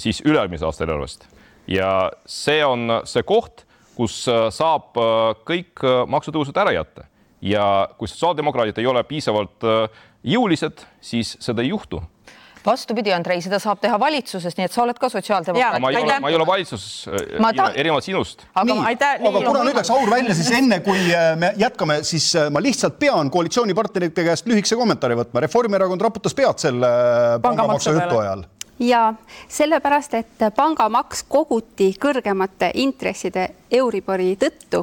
siis ülemise aasta eelarvest. Ja see on see koht, kus saab kõik maksutõusud ära jätta. Ja kui sotsiaaldemokraadid ei ole piisavalt jõulised, siis seda ei juhtu. Vastupidi, Andrei, seda saab teha valitsuses, nii et sa oled ka sotsiaaldemokraat. Ma ei ole, ma ei ole valitsuses ta... erinevalt sinust. Aga, nii, aitäh, aga kuna nüüd läks aur välja, siis enne kui me jätkame, siis ma lihtsalt pean koalitsioonipartnerite käest lühikese kommentaari võtma. Reformierakond raputas pead selle pangamaksu jutu ajal. Ja sellepärast, et pangamaks koguti kõrgemate intresside Euribori tõttu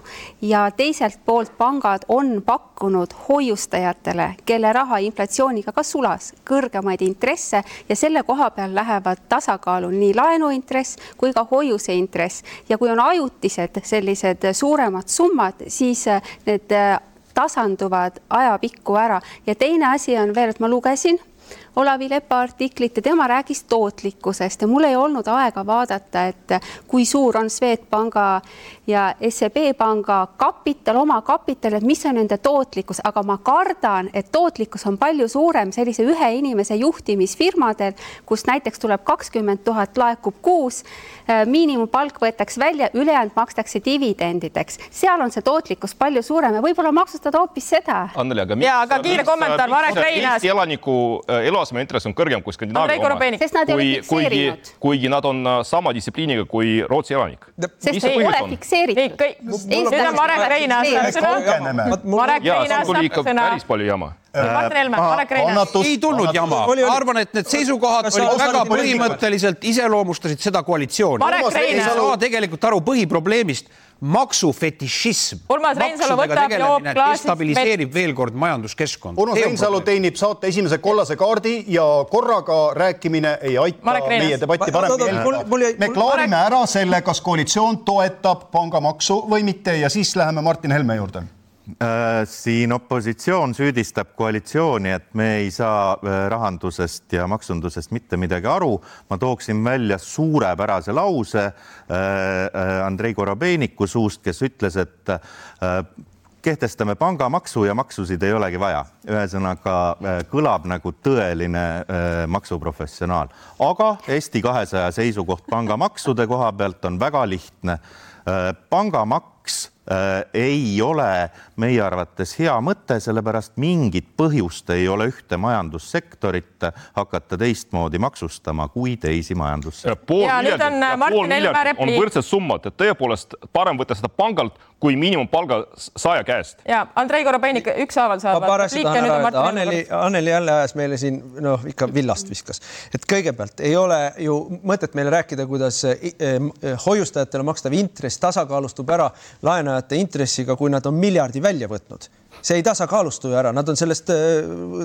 ja teiselt poolt pangad on pakkunud hoiustajatele, kelle raha inflatsiooniga ka sulas, kõrgemaid intresse ja selle koha peal lähevad tasakaalu nii laenuintress kui ka hoiuseintress. Ja kui on ajutised sellised suuremad summad, siis need tasanduvad ajapikku ära. Ja teine asi on veel, et ma lugesin Olavi Lepa artiklit ja tema räägis tootlikkusest ja mul ei olnud aega vaadata, et kui suur on Swedbanka ja S E B panga kapital, oma kapital, et mis on nende tootlikkus, aga ma kardan, et tootlikkus on palju suurem sellise ühe inimese juhtimisfirmadel, kus näiteks tuleb kakskümmend tuhat laekub kuus, miinimumpalk võetakse välja, ülejäänud makstakse dividendideks. Seal on see tootlikkus palju suurem ja võib-olla maksustada hoopis seda. Anneli, aga, ja, aga kiire kommentaar, Marek Reinaas. Eesti elaniku eluaseme intress on kõrgem kui Skandinaavia oma, kui, kuigi, kuigi nad on sama distsipliiniga kui Rootsi elanik. Sest ei ole fikseeritud. Nüüd on Marek Reinaas. Marek Reinaas saab sõna. Päris palju jama. Martin Helme, Marek Reinaas. Ei tulnud jama. Arvan, et need seisukohad väga põhimõtteliselt iseloomustasid seda koalitsiooni. Marek Reinaas. Tegelikult aru põhiprobleemist. Maksufetišism. Urmas Reinsalu võtab joob klaasist stabiliseerib veel kord majanduskeskkond. Urmas Reinsalu teenib saate esimese kollase kaardi ja korraga rääkimine ei aita meie debatti paremini jälgida. Me klaarime ära selle, kas koalitsioon toetab pangamaksu või mitte ja siis läheme Martin Helme juurde. Siin opositsioon süüdistab koalitsiooni, et me ei saa rahandusest ja maksundusest mitte midagi aru. Ma tooksin välja suurepärase lause Andrei Korobeiniku suust, kes ütles, et kehtestame pangamaksu ja maksusid ei olegi vaja. Ühesõnaga kõlab nagu tõeline maksuprofessionaal. Aga Eesti kahesaja seisukoht pangamaksude koha pealt on väga lihtne. Pangamaks ei ole meie arvates hea mõte, sellepärast mingit põhjust ei ole ühte majandussektorit hakata teistmoodi maksustama kui teisi majandussektorit. Pool miljardit, pool miljardit on võrdsed summad, et tõepoolest parem võtta seda pangalt kui miinimumpalga saaja käest. Ja Andrei Korobeinik ükshaaval saab. Anneli, Anneli jälle ajas meile siin no, ikka villast viskas. Et kõigepealt ei ole ju mõtet meile rääkida, kuidas hoiustajatele makstav intress tasakaalustub ära laenajate intressiga, kui nad on miljardi välja võtnud. See ei tasakaalustu ju ära, nad on sellest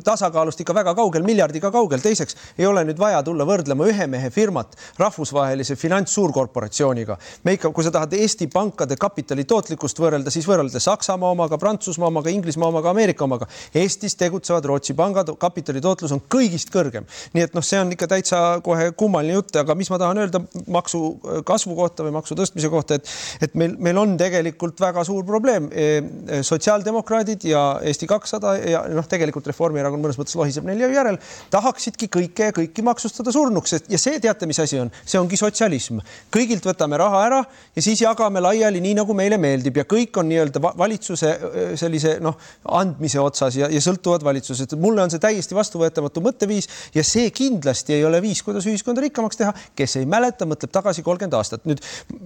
tasakaalust ikka väga kaugel, miljardiga kaugel. Teiseks ei ole nüüd vaja tulla võrdlema ühe mehe firmat rahvusvahelise finantssuurkorporatsiooniga. Me ikka, kui sa tahad Eesti pankade kapitali tootlikkust võrrelda, siis võrrelda Saksamaa omaga, Prantsusmaa omaga, Inglismaa omaga, Ameerika omaga. Eestis tegutsevad Rootsi pangad, kapitali tootlus on kõigist kõrgem. Nii et noh, see on ikka täitsa kohe kummaline jutt, aga mis ma tahan öelda maksu kasvu kohta või maksu tõstmise kohta, et, et meil, meil on tegelikult väga suur probleem. Sotsiaaldemokraadid ja Eesti kakssada ja noh, tegelikult Reformierakond mõnes mõttes lohiseb neil järel, tahaksidki kõike ja kõiki maksustada surnuks. Ja see teate, mis asi on? See ongi sotsialism. Kõigilt võtame raha ära ja siis jagame laiali nii, nagu meile meeldib ja kõik on nii-öelda valitsuse sellise noh, andmise otsas ja, ja sõltuvad valitsused. Mulle on see täiesti vastuvõetamatu mõtteviis ja see kindlasti ei ole viis, kuidas ühiskonda rikkamaks teha. Kes ei mäleta, mõtleb tagasi kolmkümmend aastat. Nüüd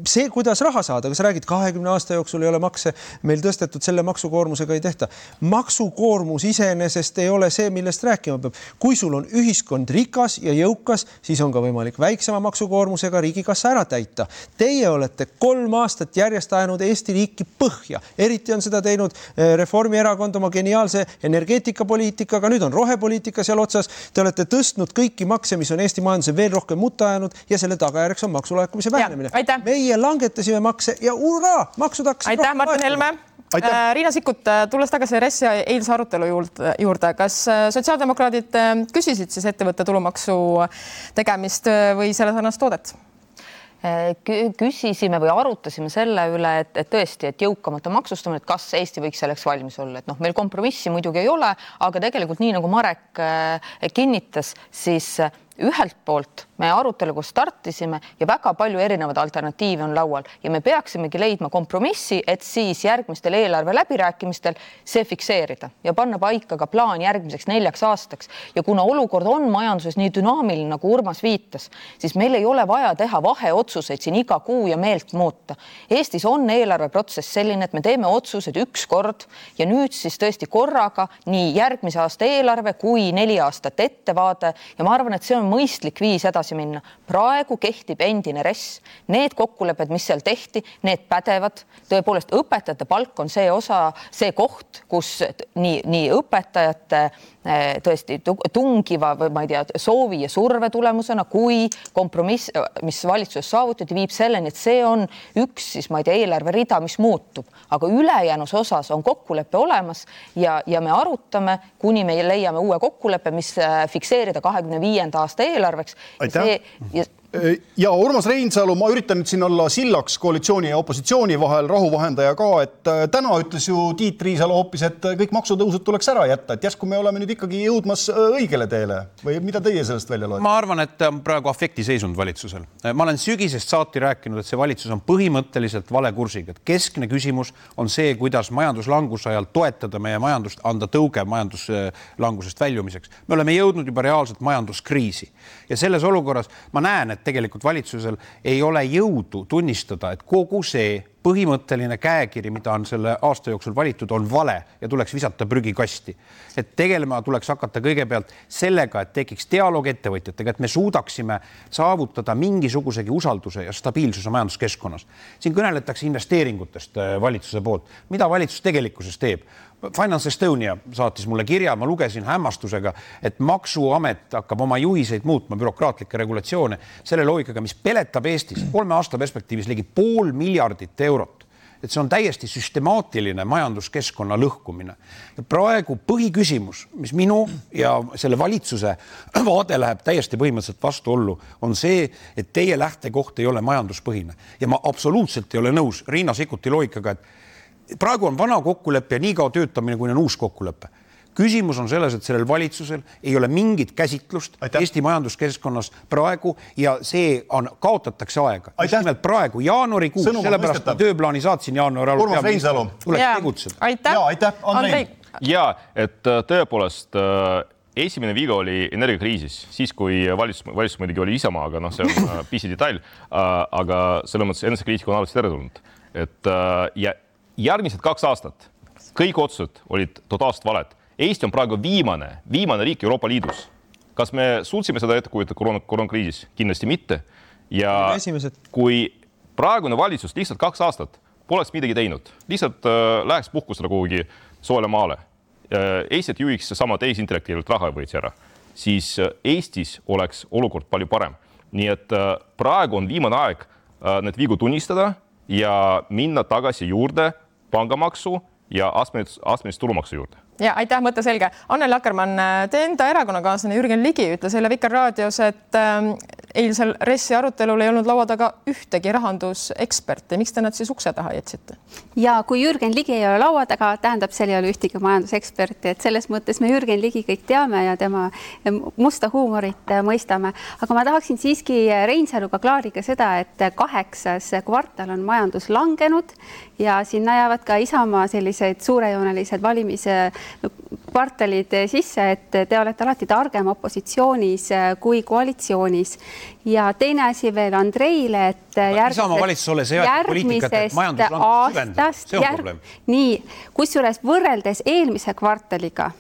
see, kuidas raha saada, kas räägid kahekümne aasta jooksul ei ole makse meil tõstetud, selle maksukoormusega ei tehta. Maksukoormus iseenesest ei ole see, millest rääkima peab. Kui sul on ühiskond rikas ja jõukas, siis on ka võimalik väiksema maksukoormusega riigikassa ära täita. Teie olete kolm aastat järjest ajanud Eesti riiki põhja. Eriti on seda teinud Reformierakond oma geniaalse energeetikapoliitikaga, nüüd on rohepoliitika seal otsas. Te olete tõstnud kõiki makse, mis on Eesti majanduse veel rohkem mutta ajanud ja selle tagajärjeks on maksulaekumise vähenemine. Ja, meie langetasime makse ja ura, maksud hakkasid. Aitäh, Martin Helme. Aitäh. Riina Sikkut, tulles tagasi R E S-i eilse arutelu juurde, kas sotsiaaldemokraadid küsisid siis ettevõtte tulumaksu tegemist või selle sarnast toodet? Küsisime või arutasime selle üle, et, et tõesti, et jõukamate maksustamine, et kas Eesti võiks selleks valmis olla. Et noh, meil kompromissi muidugi ei ole, aga tegelikult nii nagu Marek kinnitas, siis ühelt poolt me aruteluga startisime ja väga palju erinevaid alternatiive on laual ja me peaksimegi leidma kompromissi, et siis järgmistel eelarve läbirääkimistel see fikseerida ja panna paika ka plaan järgmiseks neljaks aastaks. Ja kuna olukord on majanduses nii dünaamiline, nagu Urmas viitas, siis meil ei ole vaja teha vaheotsuseid siin iga kuu ja meelt muuta. Eestis on eelarveprotsess selline, et me teeme otsused üks kord ja nüüd siis tõesti korraga nii järgmise aasta eelarve kui neli aastat ettevaade ja ma arvan, et see on mõistlik viis edasi minna. Praegu kehtib endine R E S. Need kokkulepped, mis seal tehti, need pädevad. Tõepoolest, õpetajate palk on see osa, see koht, kus nii, nii õpetajate tõesti tungiva või ma ei tea, soovi ja surve tulemusena, kui kompromiss, mis valitsuses saavutati, viib selleni, et see on üks siis, ma ei tea, eelarve rida, mis muutub. Aga ülejäänus osas on kokkuleppe olemas ja, ja me arutame, kuni me leiame uue kokkuleppe, mis fikseerida kahekümne viienda aasta eelarveks. Aitäh. Ja, ja Urmas Reinsalu, ma üritan nüüd siin olla sillaks koalitsiooni ja opositsiooni vahel, rahuvahendaja ka, et täna ütles ju Tiit Riisalo hoopis, et kõik maksutõusud tuleks ära jätta, et jäsku me oleme nüüd ikkagi jõudmas õigele teele või mida teie sellest välja loete? Ma arvan, et praegu afekti seisund valitsusel. Ma olen sügisest saati rääkinud, et see valitsus on põhimõtteliselt vale kursiga. Keskne küsimus on see, kuidas majanduslanguse ajal toetada meie majandust, anda tõuge majanduslangusest väljumiseks. Me oleme jõudnud juba reaalselt majanduskriisi ja selles olukorras ma näen, et tegelikult valitsusel ei ole jõudu tunnistada, et kogu see põhimõtteline käekiri, mida on selle aasta jooksul valitud, on vale ja tuleks visata prügikasti. Et tegelema tuleks hakata kõigepealt sellega, et tekiks dialoog ettevõtjatega, et me suudaksime saavutada mingisugusegi usalduse ja stabiilsuse majanduskeskkonnas. Siin kõneletakse investeeringutest valitsuse poolt. Mida valitsus tegelikkuses teeb? Finance Estonia saatis mulle kirja, ma lugesin hämmastusega, et maksuamet hakkab oma juhiseid muutma, bürokraatlikke regulatsioone, selle loogikaga, mis peletab Eestis kolme aasta perspektiivis ligi pool miljardit eurot. Et see on täiesti süstemaatiline majanduskeskkonna lõhkumine. Ja praegu põhiküsimus, mis minu ja selle valitsuse vaade läheb täiesti põhimõtteliselt vastuollu, on see, et teie lähtekoht ei ole majanduspõhine. Ja ma absoluutselt ei ole nõus Riina Sikkuti loogikaga, et praegu on vana kokkuleppe ja nii kao töötamine, kui on uus kokkuleppe. Küsimus on selles, et sellel valitsusel ei ole mingit käsitlust Aitäh. Eesti majanduskeskkonnas praegu ja see on, kaotatakse aega. Just nimelt praegu, jaanuarikuus, sellepärast ma tööplaani saatsin jaanuari alul. Urmas Reinsalu. Tuleks tegutseda. Aitäh. Ja, aitäh. Andrei. Ja, et tõepoolest esimene viga oli energiakriisis, siis kui valitsus, valitsus muidugi oli Isamaa, aga noh, see on pisi detail, aga selle mõttes enesekriitika on alati teretulnud. Et ja järgmised kaks aastat kõik otsused olid totaalselt valed. Eesti on praegu viimane, viimane riik Euroopa Liidus. Kas me suutsime seda ette kujutada koroona, koroonakriisis? Kindlasti mitte. Ja Esimesed. Kui praegune valitsus lihtsalt kaks aastat poleks midagi teinud, lihtsalt äh, läheks puhkusele kuhugi soole maale, äh, Eestit juhiks sama teisintellektiivalt raha võeti ära, siis äh, Eestis oleks olukord palju parem. Nii et äh, praegu on viimane aeg äh, need vigu tunnistada ja minna tagasi juurde pangamaksu ja astmelist tulumaksu juurde. Ja aitäh, mõte selge. Anneli Akkermann, te enda erakonnakaaslane Jürgen Ligi ütles selle Vikerraadios, et äh, eilsel Ressi arutelul ei olnud laua taga ühtegi rahanduseksperti. Miks te nad siis ukse taha jätsite? Ja kui Jürgen Ligi ei ole laua taga, tähendab, seal ei ole ühtegi majanduseksperti. Et selles mõttes me Jürgen Ligi kõik teame ja tema musta huumorit mõistame. Aga ma tahaksin siiski Reinsaluga klaariga seda, et kaheksas kvartal on majandus langenud ja sinna jäävad ka Isamaa sellised suurejoonelised valimise kvartalid sisse, et te olete alati targem opositsioonis kui koalitsioonis. Ja teine asi veel Andreile, et järgmisest, järgmisest aastast, järg, nii, kusjuures võrreldes eelmise kvartaliga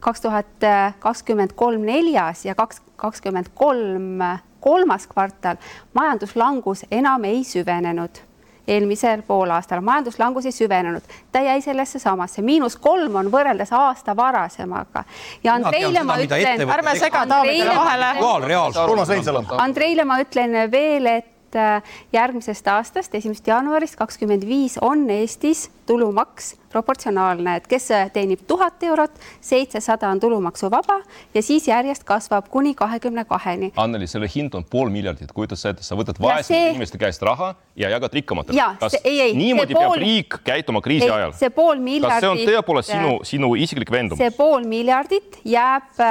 kaks tuhat kakskümmend kolm neljas ja kaks tuhat kakskümmend kolm kolmas kvartal majanduslangus enam ei süvenenud. Eelmisel poolaastal majanduslangus ei süvenenud. Ta jäi sellesse samasse. Miinus kolm on võrreldes aasta varasemaga. Ja Andreile ma ütlen, ärme sega Taavitele vahele. Andreile ma ütlen veel, et järgmisest aastast, esimesest jaanuarist kakskümmend viis on Eestis tulumaks proportsionaalne, et kes teenib tuhat eurot, seitsesada on tulumaksu vaba ja siis järjest kasvab kuni kahekümne kaheni. Anneli, selle hind on pool miljardit, kuidas sa, sa võtad vaesed see... inimeste käest raha ja jagad rikkamatele. Kas ei, ei, niimoodi pool... peab riik käituma kriisi ei, ajal? See pool miljardit... Kas see on tõepoolest sinu, sinu isiklik vendumus? See pool miljardit jääb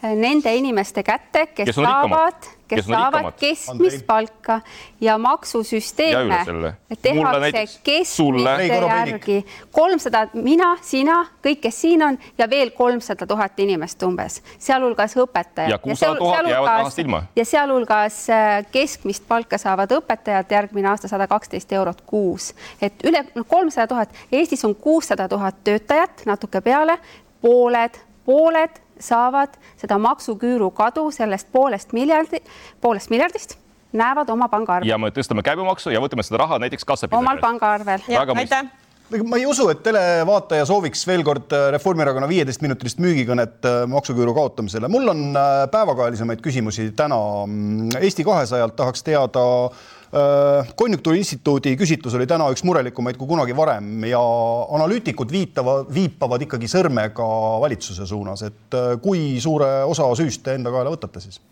nende inimeste kätte, kes, kes saavad, kes kes saavad keskmist palka ja maksusüsteeme ja tehakse keskmiste järgi. kolmsada, mina, sina, kõik, kes siin on ja veel kolmsada tuhat inimest umbes, sealhulgas õpetajad. Ja kuussada tuhat jäävad rahast ilma. Ja sealhulgas keskmist palka saavad õpetajad järgmine aasta sada kaksteist eurot kuus. Et üle kolmsada tuhat, Eestis on kuussada tuhat töötajat, natuke peale, pooled, pooled saavad seda maksuküüru kadu sellest poolest, miljardi, poolest miljardist, näevad oma pangaarvel. Ja me tõstame käibemaksu ja võtame seda raha näiteks kassapidajale. Omal pangaarvel. Aitäh. Ma ei usu, et televaataja sooviks veel kord Reformierakonna viieteist minutilist müügikõnet maksuküüru kaotamisele. Mul on päevakajalisemaid küsimusi täna. Eesti kahesajalt tahaks teada, Konjunktuuriinstituudi küsitlus oli täna üks murelikumaid kui kunagi varem ja analüütikud viitava, viipavad ikkagi sõrmega valitsuse suunas, et kui suure osa süüst te enda kaela võtate siis?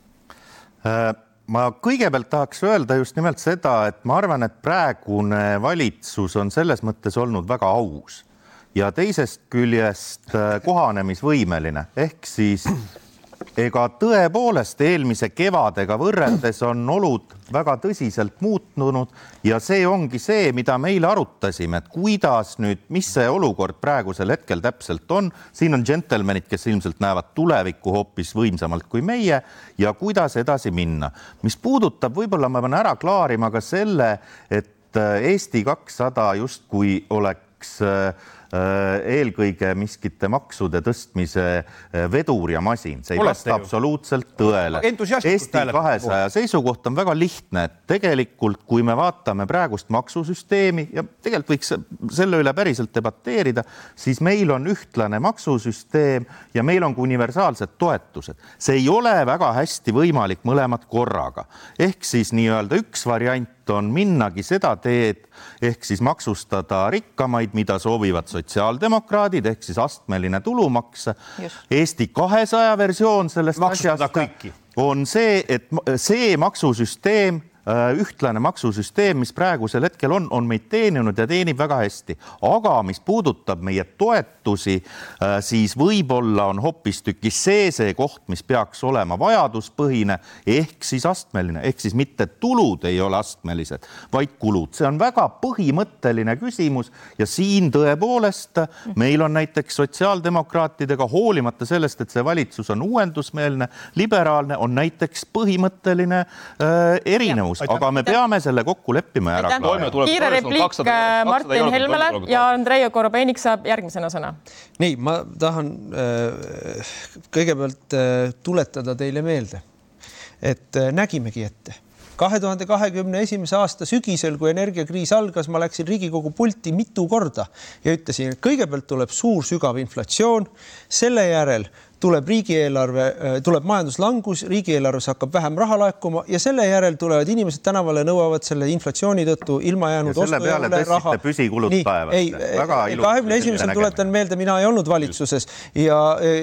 Ma kõigepealt tahaks öelda just nimelt seda, et ma arvan, et praegune valitsus on selles mõttes olnud väga aus ja teisest küljest kohanemisvõimeline, ehk siis ega tõepoolest eelmise kevadega võrreldes on olud väga tõsiselt muutunud ja see ongi see, mida meil arutasime, et kuidas nüüd, mis see olukord praegusel hetkel täpselt on. Siin on džentelmenid, kes ilmselt näevad tulevikku hoopis võimsamalt kui meie ja kuidas edasi minna. Mis puudutab, võib-olla ma pean ära klaarima ka selle, et Eesti kakssada justkui oleks eelkõige miskite maksude tõstmise vedur ja masin. See ei vasta absoluutselt tõele. Eesti kahesaja seisukoht on väga lihtne, et tegelikult kui me vaatame praegust maksusüsteemi ja tegelikult võiks selle üle päriselt debateerida, siis meil on ühtlane maksusüsteem ja meil on ka universaalsed toetused. See ei ole väga hästi võimalik mõlemad korraga. Ehk siis nii-öelda üks variant on minnagi seda teed, ehk siis maksustada rikkamaid, mida soovivad sotsiaaldemokraadid, ehk siis astmeline tulumaks. Just. Eesti kahesaja versioon sellest asjast on see, et see maksusüsteem ühtlane maksusüsteem, mis praegusel hetkel on, on meid teeninud ja teenib väga hästi. Aga mis puudutab meie toetusi, siis võib-olla on hoopistükkis see see koht, mis peaks olema vajaduspõhine ehk siis astmeline, ehk siis mitte tulud ei ole astmelised, vaid kulud. See on väga põhimõtteline küsimus ja siin tõepoolest meil on näiteks sotsiaaldemokraatidega hoolimata sellest, et see valitsus on uuendusmeelne, liberaalne, on näiteks põhimõtteline äh, erinevus. Aga me peame selle kokku leppima ära. Kiire repliik Martin Helmele ja Andrei Korobeinik saab järgmisena sõna. Nii, ma tahan äh, kõigepealt äh, tuletada teile meelde, et äh, nägimegi ette. kahe tuhande kahekümne esimese aasta sügisel, kui energiakriis algas, ma läksin Riigikogu pulti mitu korda ja ütlesin, et kõigepealt tuleb suur sügav inflatsioon, selle järel tuleb riigieelarve, tuleb majanduslangus, riigieelarves hakkab vähem raha laekuma ja selle järel tulevad inimesed tänavale nõuavad selle inflatsiooni tõttu ilma jäänud ja selle peale tõstsite püsikulud taevasse. kahekümne esimesel tuletan meelde, mina ei olnud valitsuses ja,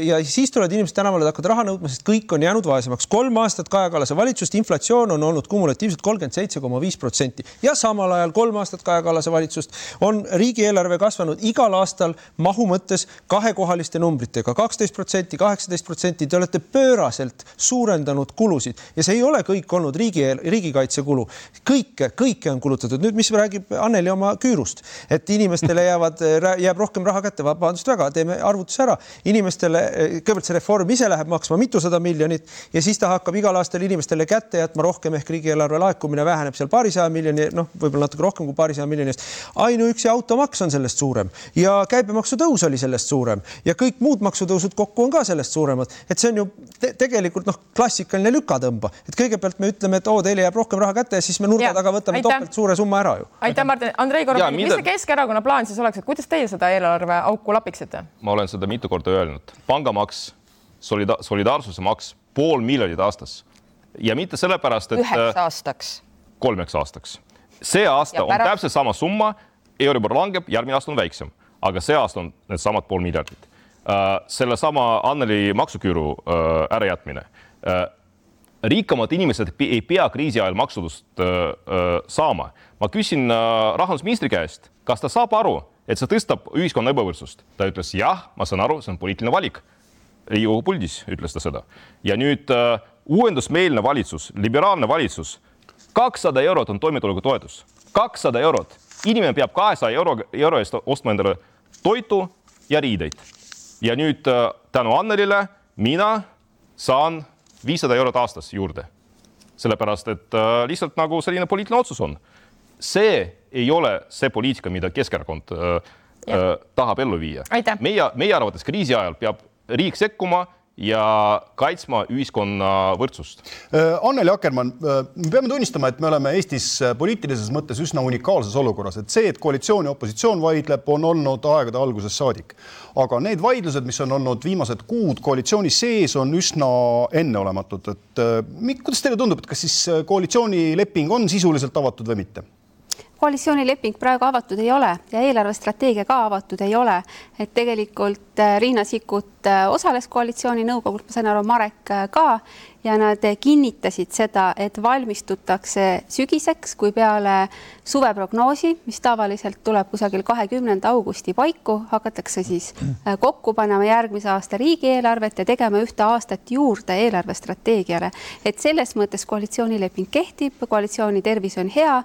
ja siis tulevad inimesed tänavale hakkavad raha nõudma, sest kõik on jäänud vaesemaks. Kolm aastat Kaja Kallase valitsust, inflatsioon on olnud kumulatiivselt kolmkümmend seitse koma viis protsenti ja samal ajal kolm aastat Kaja Kallase valitsust on riigieelarve kasvanud igal aastal mahu mõttes kahekohaliste numbritega, kaksteist protsenti, kaheksateist protsenti, te olete pööraselt suurendanud kulusid ja see ei ole kõik olnud riigi, riigikaitsekulu. Kõike, kõike on kulutatud. Nüüd, mis räägib Anneli oma küürust, et inimestele jäävad, jääb rohkem raha kätte, vabandust väga, teeme arvutuse ära. Inimestele, kõigepealt see reform ise läheb maksma mitusada miljonit ja siis ta hakkab igal aastal inimestele kätte jätma rohkem ehk riigieelarve laekumine väheneb seal paarisaja miljoni, noh, võib-olla natuke rohkem kui paarisaja miljonist. Ainuüksi automaks on sellest suurem ja käibemaksu tõus oli sellest suurem ja kõik muud maksutõusud kokku on ka sellest suuremad. Et see on ju te tegelikult noh, klassikaline lükatõmba. Et kõigepealt me ütleme, et oo, teile jääb rohkem raha kätte ja siis me nurga taga võtame topelt suure summa ära ju. Aitäh, Martin. Andrei Korobeinik, mis see Keskerakonna plaan siis oleks, et kuidas teie seda eelarve auku lapiksite? Ma olen seda mitu korda öelnud. Pangamaks, solida- solidaarsuse maks, pool miljonit aastas. Ja mitte sellepärast, et... Üheks aastaks. Kolmeks aastaks. See aasta pärast... on täpselt sama summa, Euribor langeb, järgmine aasta on väiksem. Aga see aasta on need samad pool miljardit. Uh, selle sama Anneli maksuküüru uh, ärajätmine. Uh, rikkamad inimesed ei pea kriisi ajal maksudust uh, uh, saama. Ma küsin uh, rahandusministri käest, kas ta saab aru, et see tõstab ühiskonna ebavõrdsust. Ta ütles, jah, ma saan aru, see on poliitiline valik. Riigikogu puldis ütles ta seda. Ja nüüd uh, uuendusmeelne valitsus, liberaalne valitsus, kakssada eurot on toimetuleku toetus. kakssada eurot. Inimene peab kahesaja euro, euro eest ostma endale toitu ja riideid. Ja nüüd tänu Annelile mina saan viissada eurot aastas juurde. Sellepärast, et lihtsalt nagu selline poliitiline otsus on. See ei ole see poliitika, mida Keskerakond äh, äh, tahab ellu viia. Meie, meie arvates kriisi ajal peab riik sekkuma ja kaitsma ühiskonna võrdsust. Anneli Akkermann, me peame tunnistama, et me oleme Eestis poliitilises mõttes üsna unikaalses olukorras, et see, et koalitsioon ja opositsioon vaidleb, on olnud aegade alguses saadik. Aga need vaidlused, mis on olnud viimased kuud koalitsiooni sees, on üsna enneolematud. Et, kuidas teile tundub, et kas siis koalitsioonileping on sisuliselt avatud või mitte? Koalitsioonileping praegu avatud ei ole ja eelarvestrateegia ka avatud ei ole. Et tegelikult Riina Sikkut osales koalitsiooni nõukogult, ma sain aru, Marek ka, ja nad kinnitasid seda, et valmistutakse sügiseks, kui peale suveprognoosi, mis tavaliselt tuleb kusagil kahekümnenda augusti paiku, hakatakse siis kokku panema järgmise aasta riigieelarvet ja tegema ühte aastat juurde eelarvestrateegiale. Et selles mõttes koalitsioonileping kehtib, koalitsiooni tervis on hea,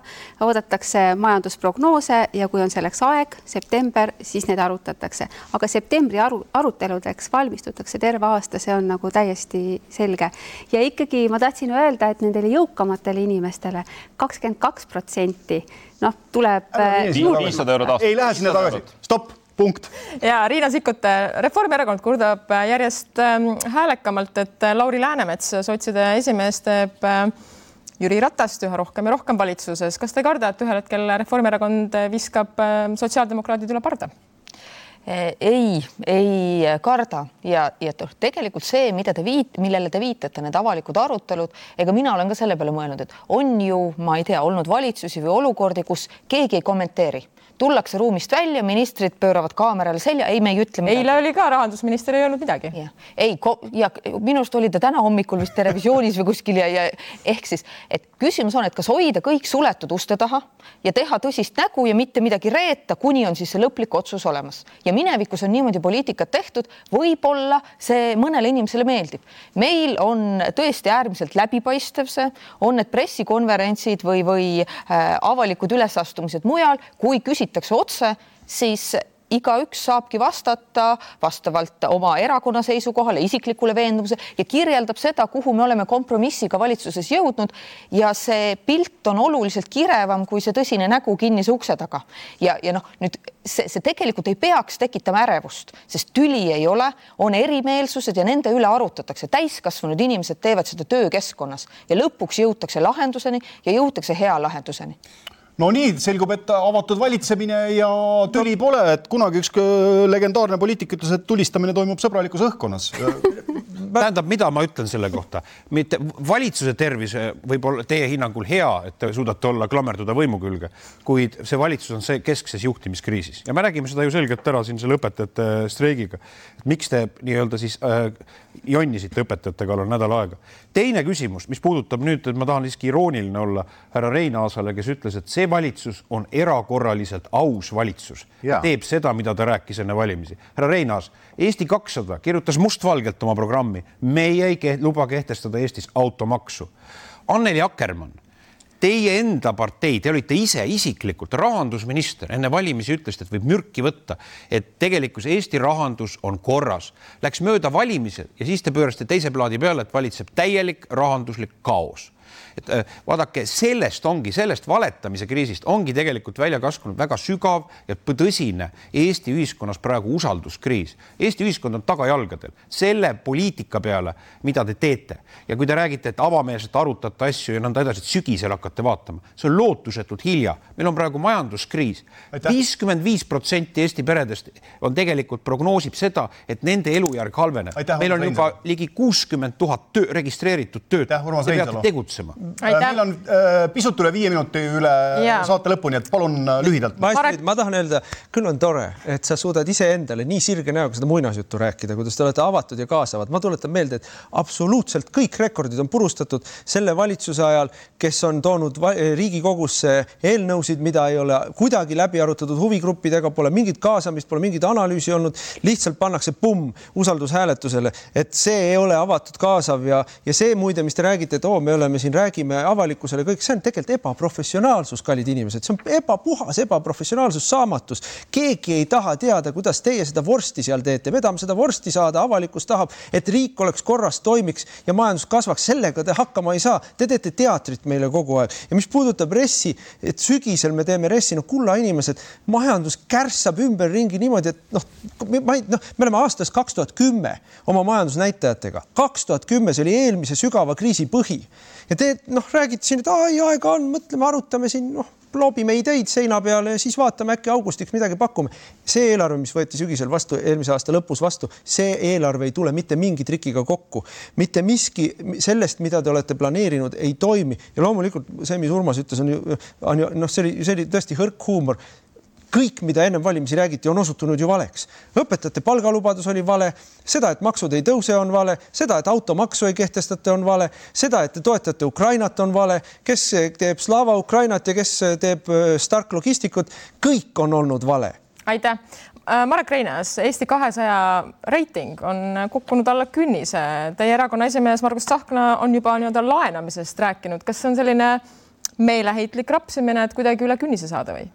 oodatakse majandusprognoose ja kui on selleks aeg, september, siis need arutatakse. Aga septembri aru, aruteludeks valmistutakse terve aasta, see on nagu täiesti selge. Ja ikkagi ma tahtsin öelda, et nendele jõukamatele inimestele kakskümmend kaks protsenti noh, tuleb... viissada eurot aastas. Ei lähe sinna tagasi. Stopp, punkt. Ja Riina Sikkut, Reformierakond kurdab järjest häälekamalt, et Lauri Läänemets, sotside esimees, teeb Jüri Ratast üha rohkem ja rohkem valitsuses. Kas te ei karda, et ühel hetkel Reformierakond viskab sotsiaaldemokraadid üle parda? Ei, ei karda ja, ja tegelikult see, mida te viit, millele te viitate, need avalikud arutelud, ega mina olen ka selle peale mõelnud, et on ju, ma ei tea, olnud valitsusi või olukordi, kus keegi ei kommenteeri. tullakse ruumist välja, ministrid pööravad kaamerale selja, ei, me ei ütle midagi. Eile oli ka rahandusminister ei öelnud midagi. Ja. Ei, ja minust oli ta täna hommikul vist televisioonis või kuskil ja, ja ehk siis, et küsimus on, et kas hoida kõik suletud uste taha ja teha tõsist nägu ja mitte midagi reeta, kuni on siis see lõplik otsus olemas. Ja minevikus on niimoodi poliitikat tehtud, võib-olla see mõnele inimesele meeldib. Meil on tõesti äärmiselt läbipaistev see, on need pressikonverentsid või, või äh, avalikud ülesastumised mujal, kui küsitakse otse, siis igaüks saabki vastata vastavalt oma erakonna seisukohale, isiklikule veendumuse ja kirjeldab seda, kuhu me oleme kompromissiga valitsuses jõudnud ja see pilt on oluliselt kirevam kui see tõsine nägu kinnise ukse taga. Ja, ja noh, nüüd see, see tegelikult ei peaks tekitama ärevust, sest tüli ei ole, on erimeelsused ja nende üle arutatakse. Täiskasvanud inimesed teevad seda töökeskkonnas ja lõpuks jõutakse lahenduseni ja jõutakse hea lahenduseni. No nii, selgub, et avatud valitsemine ja tüli pole, et kunagi üks legendaarne poliitik ütles, et tulistamine toimub sõbralikus õhkkonnas. Tähendab, mida ma ütlen selle kohta? Mitte valitsuse tervis võib olla teie hinnangul hea, et te suudate olla klammerduda võimu külge, kuid see valitsus on see keskses juhtimiskriisis. Ja me räägime seda ju selgelt ära siin selle õpetajate streigiga. Miks te nii-öelda siis äh, jonnisite õpetajate kallal nädal aega? Teine küsimus, mis puudutab nüüd, et ma tahan siiski irooniline olla härra Reinaasale, kes ütles, et see valitsus on erakorraliselt aus valitsus. Ja. Teeb seda, mida ta rääkis enne valimisi. Härra Reinaas, Eesti kakssada kirjutas mustvalgelt oma programmi. Meie ei ke- luba kehtestada Eestis automaksu. Anneli Akkermann, teie enda partei, te olite ise isiklikult rahandusminister, enne valimisi ütlesite, et võib mürki võtta, et tegelikult Eesti rahandus on korras. Läks mööda valimised ja siis te pöörasite teise plaadi peale, et valitseb täielik rahanduslik kaos. Et vaadake, sellest ongi, sellest valetamise kriisist ongi tegelikult välja kaskunud väga sügav ja tõsine Eesti ühiskonnas praegu usalduskriis. Eesti ühiskond on tagajalgadel selle poliitika peale, mida te teete. Ja kui te räägite, et avameelselt arutate asju ja nõnda edasi, et sügisel hakkate vaatama, see on lootusetult hilja. Meil on praegu majanduskriis. viiskümmend viis protsenti Eesti peredest on tegelikult prognoosib seda, et nende elujärg halveneb. Aitäh, meil on juba ligi kuuskümmend tuhat töö, registreeritud tööd. Te peate tegutsema. Aitäh. Meil on äh, pisut üle viie minuti üle ja. Saate lõpuni, et palun äh, lühidalt. Ma, Marek... ma tahan öelda, küll on tore, et sa suudad ise endale nii sirge näoga seda muinasjuttu rääkida, kuidas te olete avatud ja kaasavad. Ma tuletan meelde, et absoluutselt kõik rekordid on purustatud selle valitsuse ajal, kes on toonud Riigikogusse eelnõusid, mida ei ole kuidagi läbi arutatud huvigruppidega, pole mingit kaasamist, pole mingit analüüsi olnud, lihtsalt pannakse pumm usaldushääletusele, et see ei ole avatud kaasav ja, ja see muide, mis te räägite, et oo, me oleme siin räägime avalikkusele kõik, see on tegelikult ebaprofessionaalsus, kallid inimesed, see on ebapuhas, ebaprofessionaalsus, saamatus. Keegi ei taha teada, kuidas teie seda vorsti seal teete. Me tahame seda vorsti saada, avalikkus tahab, et riik oleks korras, toimiks ja majandus kasvaks. Sellega te hakkama ei saa. Te teete teatrit meile kogu aeg. Ja mis puudutab ressi, et sügisel me teeme ressi, no kulla inimesed, majandus kärssab ümber ringi niimoodi, et noh, ma ei, noh, me oleme aastas kaks tuhat kümme oma majandusnäitajatega. kaks tuhat kümme, see oli eelmise sügava kriisi põhi. Ja te noh, räägite siin, et ai, aega on, mõtleme, arutame siin, noh, loobime ideid seina peale ja siis vaatame äkki augustiks midagi pakume. See eelarve, mis võeti sügisel vastu, eelmise aasta lõpus vastu, see eelarve ei tule mitte mingi trikiga kokku. Mitte miski sellest, mida te olete planeerinud, ei toimi. Ja loomulikult see, mis Urmas ütles, on ju, on ju noh, see oli, see oli tõesti hõrk huumor. Kõik, mida ennem valimisi räägiti, on osutunud ju valeks. Õpetajate palgalubadus oli vale, seda, et maksud ei tõuse, on vale, seda, et automaksu ei kehtestate, on vale, seda, et te toetate Ukrainat, on vale, kes teeb Slava Ukrainat ja kes teeb Stark Logistikut, kõik on olnud vale. Aitäh. Marek Reinaas, Eesti kahesaja reiting on kukkunud alla künnise. Teie erakonna esimees Margus Tsahkna on juba nii-öelda laenamisest rääkinud. Kas see on selline meeleheitlik rapsimine, et kuidagi üle künnise saada või?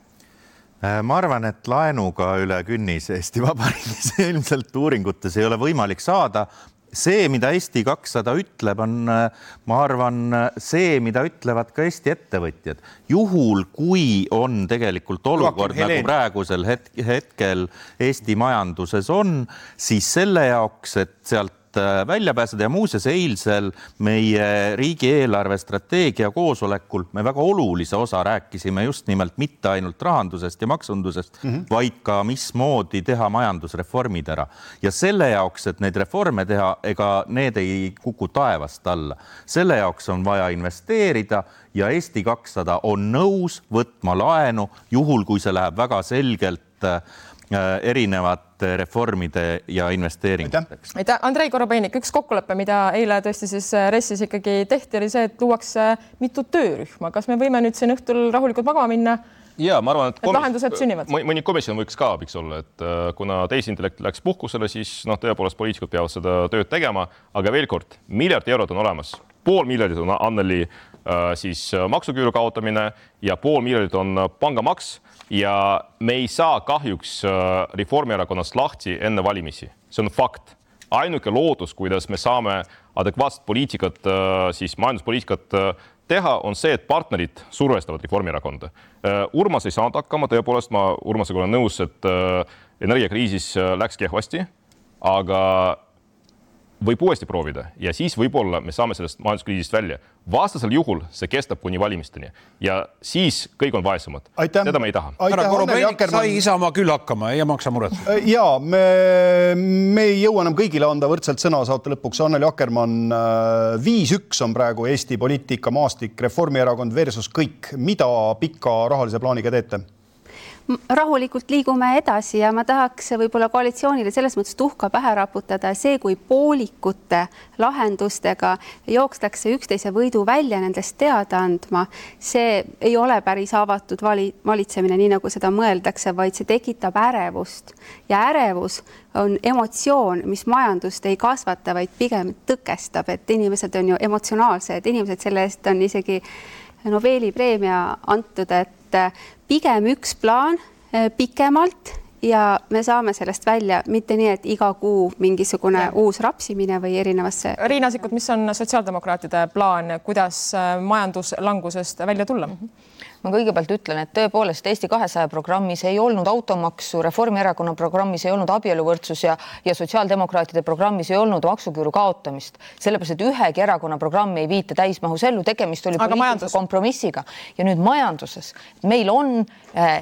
Ma arvan, et laenuga üle künnis Eesti Vabariigis ilmselt uuringutes ei ole võimalik saada. See, mida Eesti kakssada ütleb, on, ma arvan, see, mida ütlevad ka Eesti ettevõtjad. Juhul, kui on tegelikult olukord, nagu praegusel hetkel Eesti majanduses on, siis selle jaoks, et sealt välja pääseda ja muuseas eilsel meie riigieelarve strateegia koosolekul me väga olulise osa rääkisime just nimelt mitte ainult rahandusest ja maksundusest, mm-hmm. vaid ka mismoodi teha majandusreformid ära. Ja selle jaoks, et neid reforme teha, ega need ei kuku taevast alla. Selle jaoks on vaja investeerida ja Eesti kakssada on nõus võtma laenu, juhul kui see läheb väga selgelt erinevate reformide ja investeeringuteks. Aitäh. Andrei Korobeinik, üks kokkulepe, mida eile tõesti siis Ressis ikkagi tehti, oli see, et luuakse mitu töörühma. Kas me võime nüüd siin õhtul rahulikult magama minna? Ja, ma arvan, et, et lahendused sünnivad. Mõni komisjon võiks ka abiks olla, et kuna teisintellekt läks puhkusele, siis noh, tõepoolest poliitikud peavad seda tööd tegema, aga veel kord, miljard eurot on olemas. Pool miljardit on Anneli siis maksuküüru kaotamine ja pool miljardit on pangamaks ja me ei saa kahjuks Reformierakonnast lahti enne valimisi. See on fakt. Ainuke lootus, kuidas me saame adekvaatset poliitikat, siis majanduspoliitikat teha, on see, et partnerid survestavad Reformierakonda. Urmas ei saanud hakkama, tõepoolest ma Urmasega olen nõus, et energiakriisis läks kehvasti, aga võib uuesti proovida ja siis võib-olla me saame sellest majanduskriisist välja. Vastasel juhul see kestab kuni valimisteni ja siis kõik on vaesemad. Aitäh. Seda me ei taha. Härra Korobeinik sai Isamaa küll hakkama, ei maksa muret. Ja, me, me ei jõua enam kõigile anda võrdselt sõna saate lõpuks. Anneli Akkermann, viis üks on praegu Eesti poliitika maastik, Reformierakond versus kõik. Mida pika rahalise plaaniga teete? Rahulikult liigume edasi ja ma tahaks võib-olla koalitsioonile selles mõttes tuhka pähe raputada. See, kui poolikute lahendustega jookstakse üksteise võidu välja nendest teada andma, see ei ole päris avatud vali, valitsemine, nii nagu seda mõeldakse, vaid see tekitab ärevust. Ja ärevus on emotsioon, mis majandust ei kasvata, vaid pigem tõkestab, et inimesed on ju emotsionaalsed, inimesed selle eest on isegi Nobeli preemia antud, et pigem üks plaan pikemalt ja me saame sellest välja, mitte nii, et iga kuu mingisugune ja. uus rapsimine või erinevasse. Riina Sikkut, mis on sotsiaaldemokraatide plaan, kuidas majanduslangusest välja tulla? Ma kõigepealt ütlen, et tõepoolest Eesti kahesaja programmis ei olnud automaksu, Reformierakonna programmis ei olnud abieluvõrdsus ja, ja sotsiaaldemokraatide programmis ei olnud maksuküüru kaotamist. Sellepärast, et ühegi erakonna programmi ei viite täismahus ellu, tegemist oli poliitilise kompromissiga. Ja nüüd majanduses. Meil on äh,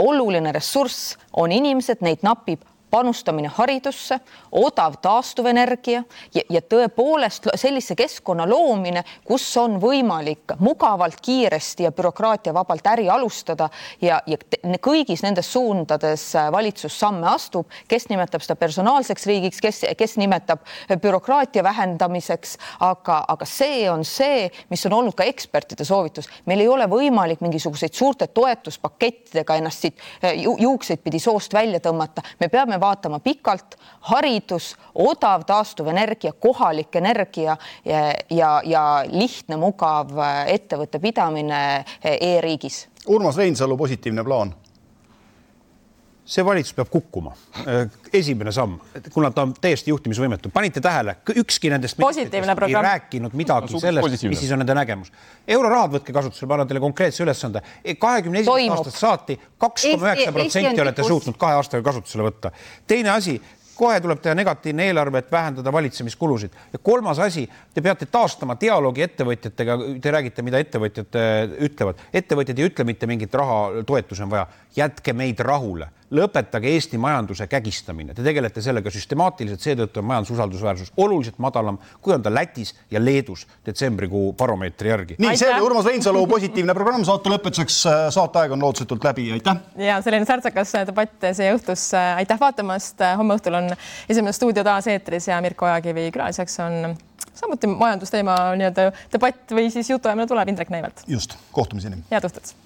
oluline ressurss, on inimesed, neid napib panustamine haridusse, odav taastuvenergia ja, ja tõepoolest sellise keskkonna loomine, kus on võimalik mugavalt, kiiresti ja bürokraatia vabalt äri alustada ja, ja kõigis nendes suundades valitsus samme astub, kes nimetab seda personaalseks riigiks, kes, kes nimetab bürokraatia vähendamiseks, aga, aga see on see, mis on olnud ka ekspertide soovitus. Meil ei ole võimalik mingisuguseid suurte toetuspakettidega ennast siit juukseid pidi soost välja tõmmata. Me peame vaatama pikalt, haridus, odav taastuvenergia, kohalik energia ja, ja, ja lihtne, mugav ettevõtte pidamine e-riigis. Urmas Reinsalu positiivne plaan. See valitsus peab kukkuma. Esimene samm, kuna ta on täiesti juhtimisvõimetu. Panite tähele, ükski nendest ei rääkinud midagi sellest, mis siis on nende nägemus. Eurorahad võtke kasutusele, ma annan teile konkreetse ülesande. kahekümne esimesest aastast saati kaks koma üheksa protsenti olete suutnud kahe aastaga kasutusele võtta. Teine asi, kohe tuleb teha negatiivne eelarve, et vähendada valitsemiskulusid. Ja kolmas asi, te peate taastama dialoogi ettevõtjatega, te räägite, mida ettevõtjad ütlevad. Ettevõtjad ei ütle mitte mingit raha toetus on vaja. Jätke meid rahule. Lõpetage Eesti majanduse kägistamine. Te tegelete sellega süstemaatiliselt, seetõttu on majandususaldusväärsus oluliselt madalam, kui on ta Lätis ja Leedus detsembrikuu baromeetri järgi. Nii, see oli Urmas Reinsalu positiivne programm. Saate lõpetuseks, saateaeg on lootusetult läbi. Aitäh! Ja selline särtsakas debatt see õhtus. Aitäh vaatamast. Homme õhtul on esimene stuudio taas eetris ja Mirko Ojakivi külaliseks on samuti majandusteema nii-öelda debatt või siis jutuajamine tuleb Indrek Neivelt. Just, kohtumiseni. Head õhtut!